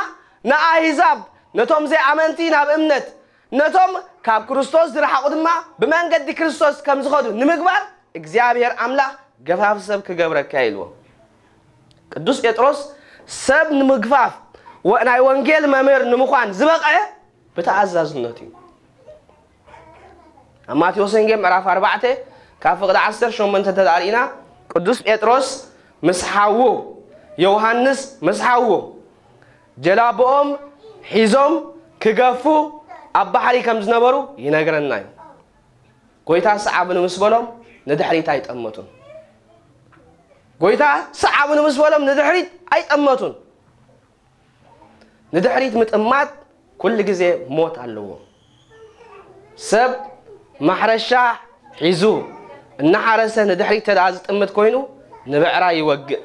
ንኣህዛብ ነቶም ዘይኣመንቲ ናብ እምነት ነቶም ካብ ክርስቶስ ዝረሓቑ ድማ ብመንገዲ ክርስቶስ ከም ዝኸዱ ንምግባር እግዚኣብሔር ኣምላኽ ገፋፍ ሰብ ክገብረካ ኢልዎ። ቅዱስ ጴጥሮስ ሰብ ንምግፋፍ ናይ ወንጌል መምህር ንምዃን ዝበቐ ብተኣዛዝነቱ እዩ። ኣብ ማቴዎስ ወንጌል ምዕራፍ ኣርባዕተ ካብ ፍቕዲ ዓሰርተ ሸሞንተ ተዳሪእና ቅዱስ ጴጥሮስ ምስ ሓዉ ዮሃንስ ምስ ሓዉ ጀላብኦም ሒዞም ክገፉ ኣብ ባሕሪ ከም ዝነበሩ ይነግረና እዩ። ጎይታ ሰዓብኒ ምስ በሎም ንድሕሪት ኣይጠመቱን። ጎይታ ሰዓብኒ ምስ በሎም ንድሕሪት ኣይጠመቱን። ንድሕሪት ምጥማት ኩሉ ግዜ ሞት ኣለዎ። ሰብ ማሕረሻ ሒዙ እናሓረሰ ንድሕሪት ተደኣ ዝጥምት ኮይኑ፣ ንብዕራይ ይወግእ።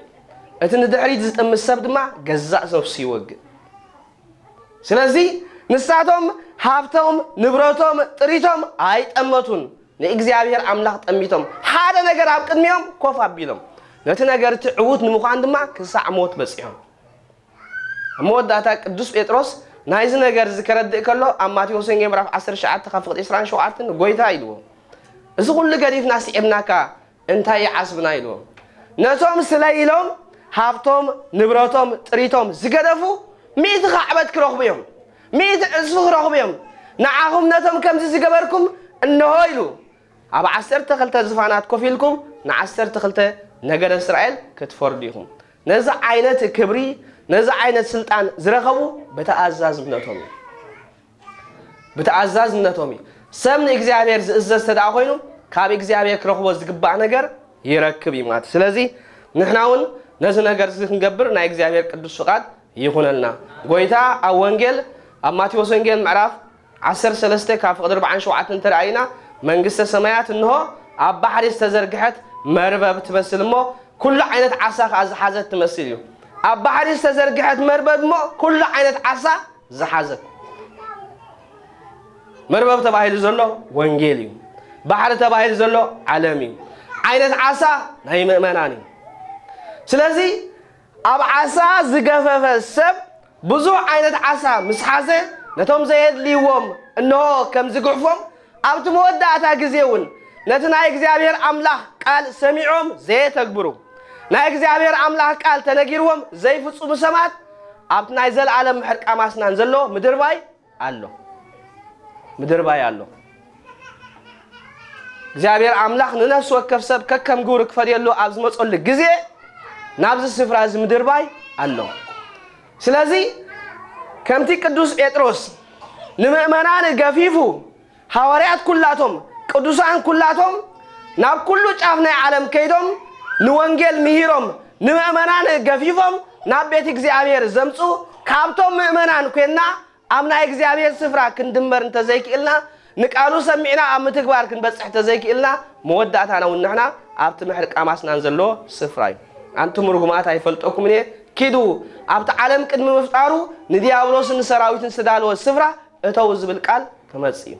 እቲ ንድሕሪት ዝጥምት ሰብ ድማ ገዛእ ነፍሱ ይወግእ። ስለዚ ንሳቶም ሃብቶም፣ ንብረቶም፣ ጥሪቶም ኣይጠመቱን። ንእግዚኣብሔር ኣምላኽ ጠሚቶም፣ ሓደ ነገር ኣብ ቅድሚኦም ኮፍ ኣቢሎም፣ ነቲ ነገር እቲ ዕዉት ንምዃን ድማ ክሳዕ ሞት በጺሖም። ኣብ መወዳእታ ቅዱስ ጴጥሮስ ናይዚ ነገር እዚ ከረድእ ከሎ፣ ኣብ ማቴዎስ ወንጌል ምዕራፍ ዓሰርተ ትሽዓተ ካብ ፍቕዲ ዕስራን ሸውዓተን ጎይታ ኢልዎ፣ "እዚ ኩሉ ገዲፍና ስዒብናካ እንታይ ይዓስብና?" ኢልዎም። ነቶም ስለይ ኢሎም ሃብቶም፣ ንብረቶም፣ ጥሪቶም ዝገደፉ ሚእቲ ካዕበት ክረኽቡ እዮም። ሚእቲ ዕጽፊ ክረኽቡ እዮም። ንዓኹም ነቶም ከምዚ ዝገበርኩም እንሆ ኢሉ፣ ኣብ ዓሰርተ ክልተ ዝፋናት ኮፍ ኢልኩም ንዓሰርተ ክልተ ነገደ እስራኤል ክትፈርዱ ኢኹም። ነዚ ዓይነት ክብሪ፣ ነዚ ዓይነት ስልጣን ዝረኸቡ ብተኣዛዝነቶም እዩ። ብተኣዛዝነቶም እዩ። ሰብ ንእግዚኣብሔር ዝእዘዝ ተደኣ ኮይኑ፣ ካብ እግዚኣብሔር ክረኽቦ ዝግባእ ነገር ይረክብ እዩ ማለት እዩ። ስለዚ ንሕና እውን ነዚ ነገር እዚ ክንገብር ናይ እግዚኣብሔር ቅዱስ ፍቓድ ይኹነልና። ጎይታ ኣብ ወንጌል፣ ኣብ ማቴዎስ ወንጌል ምዕራፍ ዓሰርተ ሰለስተ ካብ ፍቕዲ ኣርባዓን ሸውዓተን እንተረኣይና፣ መንግስተ ሰማያት እንሆ ኣብ ባሕሪ ዝተዘርግሐት መርበብ ትመስል እሞ፣ ኩሉ ዓይነት ዓሳ ከኣ ዝሓዘት ትመስል እዩ። ኣብ ባሕሪ ዝተዘርግሐት መርበብ እሞ ኩሉ ዓይነት ዓሳ ዝሓዘት። መርበብ ተባሂሉ ዘሎ ወንጌል እዩ። ባሕሪ ተባሂሉ ዘሎ ዓለም እዩ። ዓይነት ዓሳ ናይ ምእመናን እዩ። ስለዚ ኣብ ዓሳ ዝገፈፈ ሰብ ብዙሕ ዓይነት ዓሳ ምስ ሓዘ፣ ነቶም ዘየድልይዎም እንሆ ከም ዝጉሕፎም፣ ኣብቲ መወዳእታ ግዜ እውን ነቲ ናይ እግዚኣብሔር ኣምላኽ ቃል ሰሚዖም ዘየተግብሩ፣ ናይ እግዚኣብሔር ኣምላኽ ቃል ተነጊርዎም ዘይፍጽሙ ሰባት፣ ኣብቲ ናይ ዘለኣለም ምሕርቃም ኣስናን ዘሎ ምድርባይ ኣሎ። ምድርባይ ኣሎ። እግዚኣብሔር ኣምላኽ ንነፍሲ ወከፍ ሰብ ከከም ግብሩ ክፈድየሉ ኣብ ዝመጸሉ ግዜ፣ ናብዚ ስፍራ እዚ ምድርባይ ኣሎ። ስለዚ ከምቲ ቅዱስ ጴጥሮስ ንምእመናን ገፊፉ፣ ሃዋርያት ኩላቶም፣ ቅዱሳን ኩላቶም ናብ ኩሉ ጫፍ ናይ ዓለም ከይዶም ንወንጌል ምሂሮም፣ ንምእመናን ገፊፎም ናብ ቤት እግዚኣብሔር ዘምጹ፣ ካብቶም ምእመናን ኮይንና ኣብ ናይ እግዚኣብሔር ስፍራ ክንድመር እንተዘይክእልና፣ ንቃሉ ሰሚዕና ኣብ ምትግባር ክንበጽሕ እንተዘይክእልና፣ መወዳእታና እውን ንሕና ኣብቲ ምሕርቃም ኣስናን ዘሎ ስፍራ እዩ። ኣንቱም ርጉማት ኣይፈልጠኩምን እየ፣ ኪዱ ኣብቲ ዓለም ቅድሚ ምፍጣሩ ንዲያብሎስን ንሰራዊትን ዝተዳለወ ስፍራ እተው ዝብል ቃል ክመጽእ እዩ።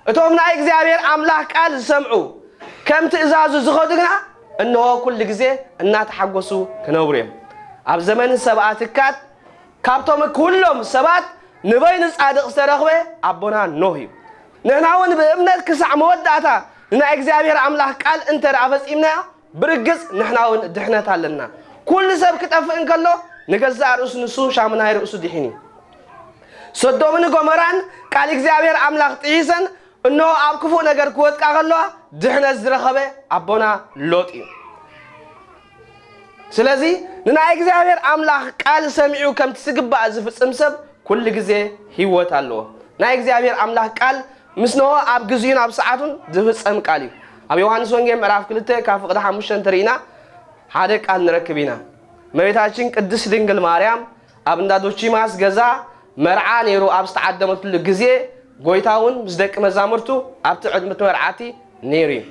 እቶም ናይ እግዚኣብሔር ኣምላኽ ቃል ዝሰምዑ፣ ከም ትእዛዙ ዝኸዱ ግና፣ እንሆ ኩሉ ግዜ እናተሓጎሱ ክነብሩ እዮም። ኣብ ዘመን ሰብኣ ትካት፣ ካብቶም ኩሎም ሰባት ንበይኑ ጻድቕ ዝተረኽበ ኣቦና ኖህ እዩ። ንሕና እውን ብእምነት ክሳዕ መወዳእታ ንናይ እግዚኣብሔር ኣምላኽ ቃል እንተ ደኣ ፈጺምናዮ፣ ብርግጽ ንሕና እውን ድሕነት ኣለና። ኩሉ ሰብ ክጠፍእ እንከሎ፣ ንገዛእ ርእሱ ንሱ ሻሙ ናይ ርእሱ ድሒን እዩ። ሰዶምን ጎመራን ቃል እግዚኣብሔር ኣምላኽ ጥሒሰን፣ እንሆ ኣብ ክፉእ ነገር ክወድቃ ከለዋ፣ ድሕነት ዝረኸበ ኣቦና ሎጥ እዩ። ስለዚ ንናይ እግዚኣብሔር ኣምላኽ ቃል ሰሚዑ ከምቲ ዝግባእ ዝፍጽም ሰብ ኩሉ ግዜ ህይወት ኣለዎ። ናይ እግዚኣብሔር ኣምላኽ ቃል ምስ ንሆ ኣብ ግዜኡን ኣብ ሰዓቱን ዝፍጸም ቃል እዩ። ኣብ ዮሃንስ ወንጌል ምዕራፍ ክልተ ካብ ፍቕዲ ሓሙሽተ እንተርኢና ሓደ ቃል ንረክብ ኢና። እመቤታችን ቅድስት ድንግል ማርያም ኣብ እንዳ ዶቺማስ ገዛ መርዓ ነይሩ ኣብ ዝተዓደመትሉ ግዜ፣ ጎይታ እውን ምስ ደቂ መዛሙርቱ ኣብቲ ዕድመ እቲ መርዓቲ ነይሩ እዩ።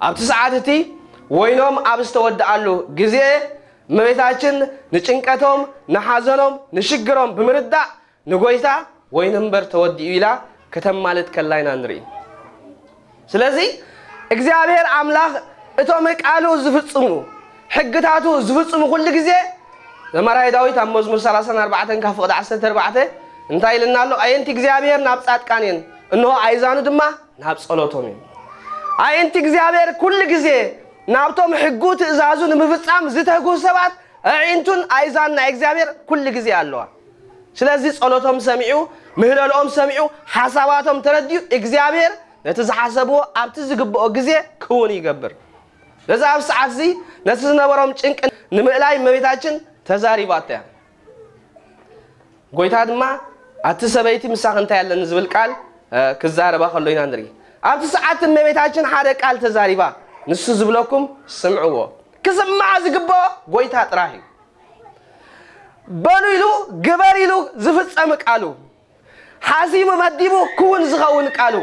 ኣብቲ ሰዓት እቲ ወይኖም ኣብ ዝተወድኣሉ ግዜ፣ እመቤታችን ንጭንቀቶም፣ ንሓዘኖም፣ ንሽግሮም ብምርዳእ ንጎይታ፣ "ወይኒ እምበር ተወዲኡ" ኢላ ከተማልድ ከላ ኢና ንርኢ። ስለዚ እግዚኣብሔር ኣምላኽ እቶም ቃሉ ዝፍጽሙ፣ ሕግታቱ ዝፍጽሙ ኩሉ ግዜ፣ ዘማራይ ዳዊት ኣብ መዝሙር ሰላሳን ኣርባዕተን ካብ ፍቕዲ ዓሰርተ ኣርባዕተ እንታይ ኢልና ኣሎ? "ኣየንቲ እግዚኣብሔር ናብ ጻድቃን እየን፣ እንሆ ኣይዛኑ ድማ ናብ ጸሎቶም እዮም።" ኣየንቲ እግዚኣብሔር ኩሉ ግዜ ናብቶም ሕጉ ትእዛዙ ንምፍጻም ዝተጉ ሰባት ኣዒንቱን ኣይዛን ናይ እግዚኣብሔር ኩሉ ግዜ ኣለዋ። ስለዚ ጸሎቶም ሰሚዑ፣ ምህለልኦም ሰሚዑ፣ ሓሳባቶም ተረዲኡ፣ እግዚኣብሔር ነቲ ዝሓሰብዎ ኣብቲ ዝግብኦ ግዜ ክውን ይገብር። ነዚ ኣብ ሰዓት እዚ ነቲ ዝነበሮም ጭንቂ ንምእላይ እመቤታችን ተዛሪባቶ እያ። ጎይታ ድማ ኣቲ ሰበይቲ ምሳኺ እንታይ ኣለኒ ዝብል ቃል፣ እ፣ ክዛረባ ከሎ ኢና ንርኢ። ኣብቲ ሰዓት እመቤታችን ሓደ ቃል ተዛሪባ፣ ንሱ ዝብለኩም ስምዕዎ። ክስማዕ ዝግብኦ ጎይታ ጥራሕ እዩ። በሉ ኢሉ፣ ግበር ኢሉ ዝፍጸም ቃሉ፣ ሓሲሙ መዲቡ ክውን ዝኸውን ቃሉ፣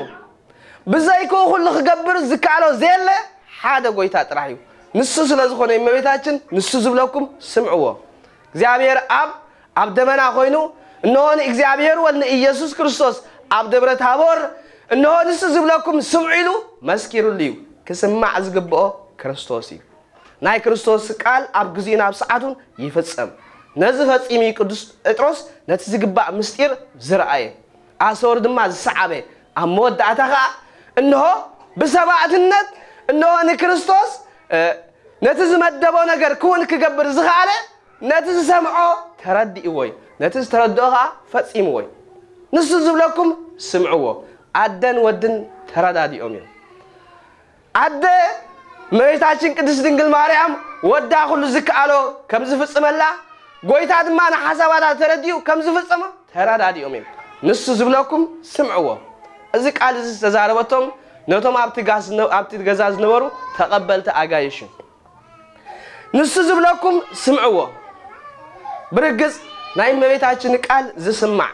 ብዘይክኡ ኩሉ ክገብር ዝከኣሎ ዘየለ ሓደ ጎይታ ጥራሕ እዩ። ንሱ ስለ ዝኾነ እመቤታችን፣ ንሱ ዝብለኩም ስምዕዎ። እግዚኣብሔር ኣብ፣ ኣብ ደመና ኮይኑ፣ "እንሆ ንእግዚኣብሔር ወልድ ንኢየሱስ ክርስቶስ ኣብ ደብረ ታቦር፣ እንሆ ንሱ ዝብለኩም ስምዑ" ኢሉ መስኪሩሉ እዩ። ክስማዕ ዝግብኦ ክርስቶስ እዩ። ናይ ክርስቶስ ቃል ኣብ ግዜኡን ኣብ ሰዓቱን ይፍጸም። ነዚ ፈጺሙ እዩ ቅዱስ ጴጥሮስ ነቲ ዝግባእ ምስጢር ዝረኣየ፣ ኣሰሩ ድማ ዝሰዓበ። ኣብ መወዳእታ ኸኣ እንሆ ብሰማዕትነት፣ እንሆ ንክርስቶስ፣ እ፣ ነቲ ዝመደቦ ነገር ክውን ክገብር ዝኸኣለ፣ ነቲ ዝሰምዖ ተረዲእዎ እዩ። ነቲ ዝተረድኦ ኸኣ ፈጺምዎ እዩ። ንሱ ዝብለኩም ስምዕዎ። ኣደን ወድን ተረዳዲኦም እዮም። ኣደ እመቤታችን ቅድስት ድንግል ማርያም ወዳ ኩሉ ዝከኣሎ ከም ዝፍጽመላ፣ ጎይታ ድማ ንሓሳባታ ተረዲኡ ከም ዝፍጽሞ ተረዳዲኦም እዮም። ንሱ ዝብለኩም ስምዕዎ። እዚ ቃል እዚ ዝተዛረበቶም ነቶም ኣብቲ ጋስ ዝነ-፣ ኣብቲ ገዛ ዝነበሩ ተቐበልቲ ኣጋይሽ እዩ። ንሱ ዝብለኩም ስምዕዎ። ብርግጽ ናይ እመቤታችን ቃል ዝስማዕ፣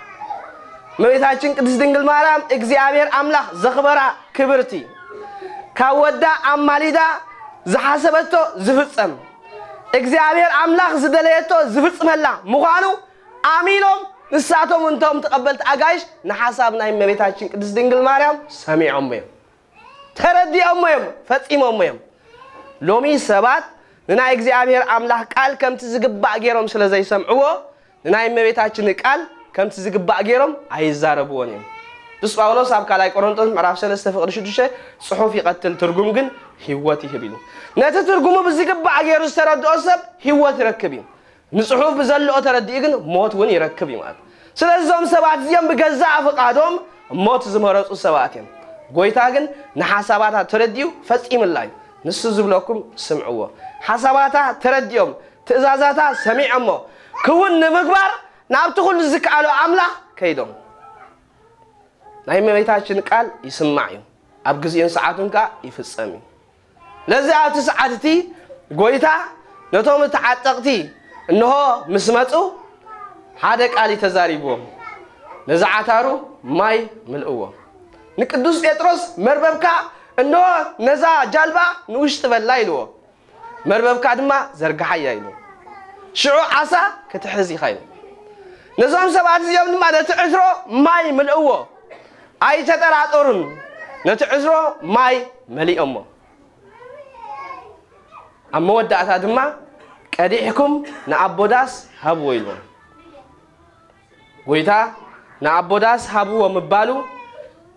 እመቤታችን ቅድስት ድንግል ማርያም እግዚኣብሔር ኣምላኽ ዘኽበራ ክብርቲ፣ ካብ ወዳ ኣማሊዳ ዝሓሰበቶ ዝፍጸም፣ እግዚኣብሔር ኣምላኽ ዝደለየቶ ዝፍጽመላ ምዃኑ ኣሚኖም፣ ንሳቶም እንቶም ተቐበልቲ ኣጋይሽ ንሓሳብ ናይ እመቤታችን ቅድስት ድንግል ማርያም ሰሚዖም እዮም። ተረዲኦሞ እዮም፣ ፈጺሞሞ እዮም። ሎሚ ሰባት ንናይ እግዚኣብሔር ኣምላኽ ቃል ከምቲ ዝግባእ ገይሮም ስለ ዘይሰምዕዎ፣ ንናይ እመቤታችን ቃል ከምቲ ዝግባእ ገይሮም ኣይዛረብዎን እዮም። ቅዱስ ጳውሎስ ኣብ ካልኣይ ቆሮንቶስ ምዕራፍ ሰለስተ ፍቕዲ ሽዱሽተ፣ "ጽሑፍ ይቐትል፣ ትርጉም ግን ህይወት ይህብ" ኢሉ። ነቲ ትርጉሙ ብዝግባእ ገይሩ ዝተረድኦ ሰብ ህይወት ይረክብ እዩ። ንጽሑፍ ብዘለኦ ተረዲኡ ግን ሞት እውን ይረክብ እዩ ማለት። ስለዚ እዞም ሰባት እዚኦም ብገዛእ ፍቓዶም ሞት ዝመረጹ ሰባት እዮም። ጎይታ ግን ንሓሳባታ ተረዲኡ ፈጺምላ እዩ። ንሱ ዝብለኩም ስምዕዎ። ሓሳባታ ተረዲኦም፣ ትእዛዛታ ሰሚዖሞ፣ ክውን ንምግባር ናብቲ ኩሉ ዝከኣሎ ኣምላኽ ከይዶም። ናይ እመቤታችን ቃል ይስማዕ እዩ፣ ኣብ ግዜኡን ሰዓቱን ከኣ ይፍጸም እዩ። ለዚ ኣብቲ ሰዓት እቲ ጎይታ ነቶም ተዓጠቕቲ እንሆ ምስ መጹ ሓደ ቃል እዩ ተዛሪብዎም። ነዛ ዓታሩ ማይ ምልእዎ። ንቅዱስ ጴጥሮስ መርበብካ እንሆ ነዛ ጃልባ ንውሽጢ በላ ኢልዎ። መርበብካ ድማ ዘርግሓያ ኢሉ። ሽዑ ዓሳ ክትሕዝ ኢኻ ኢሉ። ነዞም ሰባት እዚኦም ድማ ነቲ ዕትሮ ማይ ምልእዎ። ኣይተጠራጠሩን፣ ነቲ ዕትሮ ማይ መሊኦሞ። ኣብ መወዳእታ ድማ ቀዲሕኩም ንኣቦ ዳስ ሃብዎ ኢልዎም። ጎይታ ንኣቦ ዳስ ሃብዎ ምባሉ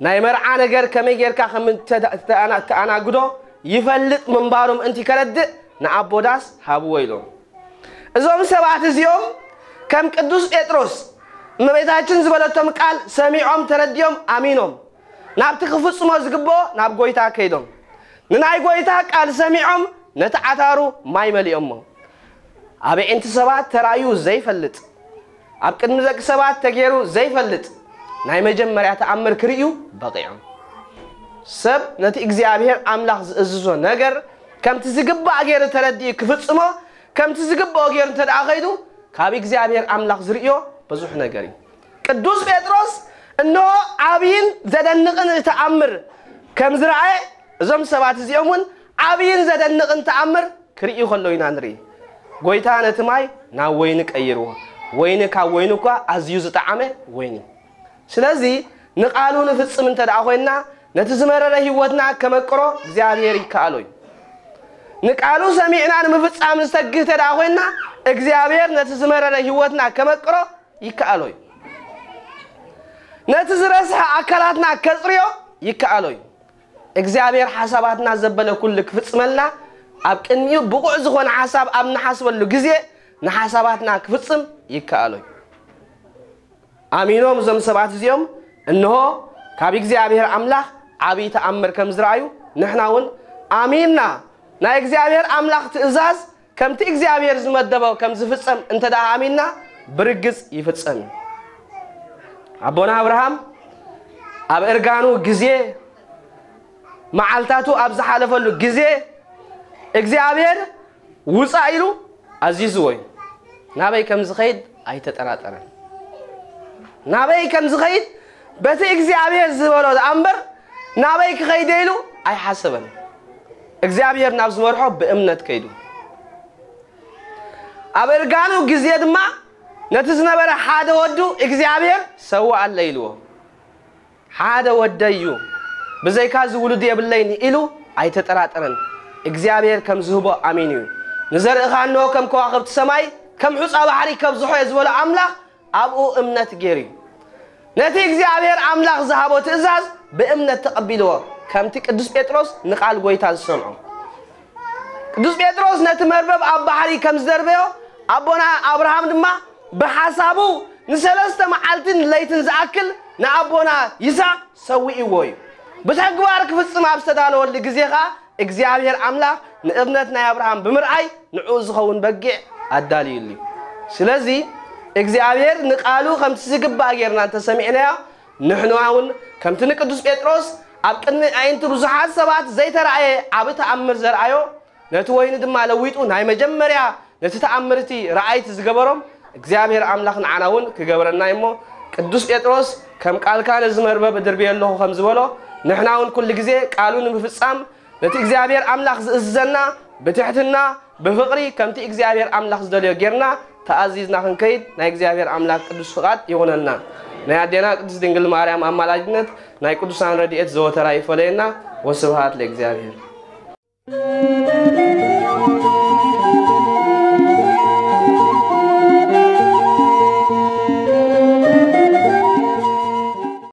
ናይ መርዓ ነገር ከመይ ጌርካ ከም እተ-፣ እተኣና-፣ እተኣናግዶ ይፈልጥ ምንባሩ ምእንቲ ከረድእ ንኣቦ ዳስ ሃብዎ ኢሎም። እዞም ሰባት እዚኦም ከም ቅዱስ ጴጥሮስ እመቤታችን ዝበለቶም ቃል ሰሚዖም ተረዲኦም ኣሚኖም ናብቲ ክፍጽሞ ዝግብኦ ናብ ጎይታ ከይዶም ንናይ ጎይታ ቃል ሰሚዖም ነቲ ዓታሩ ማይ መሊኦሞ። ኣብ ኣዒንቲ ሰባት ተራእዩ ዘይፈልጥ፣ ኣብ ቅድሚ ደቂ ሰባት ተገይሩ ዘይፈልጥ ናይ መጀመርያ ተኣምር ክርእዩ በቒዖም። ሰብ ነቲ እግዚኣብሔር ኣምላኽ ዝእዝዞ ነገር ከምቲ ዝግባእ ገይሩ ተረዲኡ ክፍጽሞ፣ ከምቲ ዝግብኦ ገይሩ እንተ ደኣ ኸይዱ፣ ካብ እግዚኣብሔር ኣምላኽ ዝርእዮ ብዙሕ ነገር እዩ። ቅዱስ ጴጥሮስ እንሆ ዓብይን ዘደንቕን ተኣምር ከም ዝረኣየ፣ እዞም ሰባት እዚኦም እውን ዓብይን ዘደንቕን ተኣምር ክርእዩ ከለዉ ኢና ንርኢ። ጎይታ ነቲ ማይ ናብ ወይኒ ቀይርዎ። ወይኒ ካብ ወይኒ እኳ ኣዝዩ ዝጠዓመ ወይኒ። ስለዚ ንቓሉ ንፍጽም እንተ ደኣ ኮይንና፣ ነቲ ዝመረረ ህይወትና ከመቅሮ እግዚኣብሔር ይከኣሎ እዩ። ንቃሉ ሰሚዕና ንምፍጻም ንሰግህ እንተ ደኣ ኮይንና፣ እግዚኣብሔር ነቲ ዝመረረ ህይወትና ከመቅሮ ይከኣሎ እዩ። ነቲ ዝረስሐ ኣካላትና ከጽርዮ ይከኣሎ እዩ። እግዚኣብሔር ሓሳባትና ዘበለ ኩሉ ክፍጽመልና፣ ኣብ ቅድሚኡ ብቑዕ ዝኾነ ሓሳብ ኣብ ንሓስበሉ ግዜ ንሓሳባትና ክፍጽም ይከኣሎ እዩ። ኣሚኖም እዞም ሰባት እዚኦም፣ እንሆ ካብ እግዚኣብሔር ኣምላኽ ዓብዪ ተኣምር ከም ዝረኣዩ፣ ንሕና እውን ኣሚንና ናይ እግዚኣብሔር ኣምላኽ ትእዛዝ ከምቲ እግዚኣብሔር ዝመደቦ ከም ዝፍጸም እንተ ደኣ ኣሚንና፣ ብርግጽ ይፍጸም እዩ። ኣቦና ኣብርሃም ኣብ እርጋኑ ግዜ፣ መዓልታቱ ኣብ ዝሓለፈሉ ግዜ፣ እግዚኣብሔር ውጻእ ኢሉ ኣዚዝዎ እዩ። ናበይ ከም ዝኸይድ ኣይተጠራጠረን። ናበይ ከም ዝኸይድ በቲ እግዚኣብሔር ዝበሎ ደኣ እምበር፣ ናበይ ክኸይደ ኢሉ ኣይሓሰበን። እግዚኣብሔር ናብ ዝመርሖ ብእምነት ከይዱ። ኣብ እርጋኑ ግዜ ድማ ነቲ ዝነበረ ሓደ ወዱ እግዚኣብሔር ሰውኣለይ ኢልዎ። ሓደ ወደይ እዩ፣ ብዘይካ እዚ ውሉድ የብለይን ኢሉ ኣይተጠራጠረን። እግዚኣብሔር ከም ዝህቦ ኣሚኑ እዩ። ንዘርእኻ እንሆ ከም ከዋኽብቲ ሰማይ፣ ከም ሑጻ ባሕሪ ከብዝሖ እየ ዝበሎ ኣምላኽ ኣብኡ እምነት ገይሩ እዩ። ነቲ እግዚኣብሔር ኣምላኽ ዝሃቦ ትእዛዝ ብእምነት ተቐቢልዎ፣ ከምቲ ቅዱስ ጴጥሮስ ንቓል ጐይታ ዝሰምዖ። ቅዱስ ጴጥሮስ ነቲ መርበብ ኣብ ባሕሪ ከም ዝደርበዮ ኣቦና ኣብርሃም ድማ ብሓሳቡ ንሰለስተ መዓልትን ለይትን ዝኣክል ንኣቦና ይስሐቅ ሰዊእዎ እዩ። ብተግባር ክፍጽም ኣብ ዝተዳለወሉ ግዜ ኸኣ እግዚኣብሔር ኣምላኽ ንእምነት ናይ ኣብርሃም ብምርኣይ ንዕኡ ዝኸውን በጊዕ ኣዳልዩሉ እዩ። ስለዚ እግዚኣብሔር ንቓሉ ከምቲ ዝግባእ ጌርና እንተሰሚዕናዮ ንሕና እውን ከምቲ ንቅዱስ ጴጥሮስ ኣብ ቅድሚ ኣዒንቲ ብዙሓት ሰባት ዘይተራእየ ዓቢ ተኣምር ዘርኣዮ ነቲ ወይኒ ድማ ለዊጡ ናይ መጀመርያ ነቲ ተኣምርቲ ረኣይቲ ዝገበሮም እግዚኣብሔር ኣምላኽ ንዓና እውን ክገብረና እዩ እሞ ቅዱስ ጴጥሮስ ከም ቃልካ ነዚ መርበብ እድርብየ ኣለኹ ከም ዝበሎ ንሕና እውን ኩሉ ግዜ ቃሉ ንምፍጻም ነቲ እግዚኣብሔር ኣምላኽ ዝእዝዘና ብትሕትና ብፍቕሪ ከምቲ እግዚኣብሔር ኣምላኽ ዝደልዮ ጌርና ተኣዚዝና ክንከይድ ናይ እግዚኣብሔር ኣምላኽ ቅዱስ ፍቓድ ይኹነልና። ናይ ኣዴና ቅድስት ድንግል ማርያም ኣማላጅነት ናይ ቅዱሳን ረድኤት ዘወተራ ይፈለየና። ወስብሃት ለእግዚኣብሔር።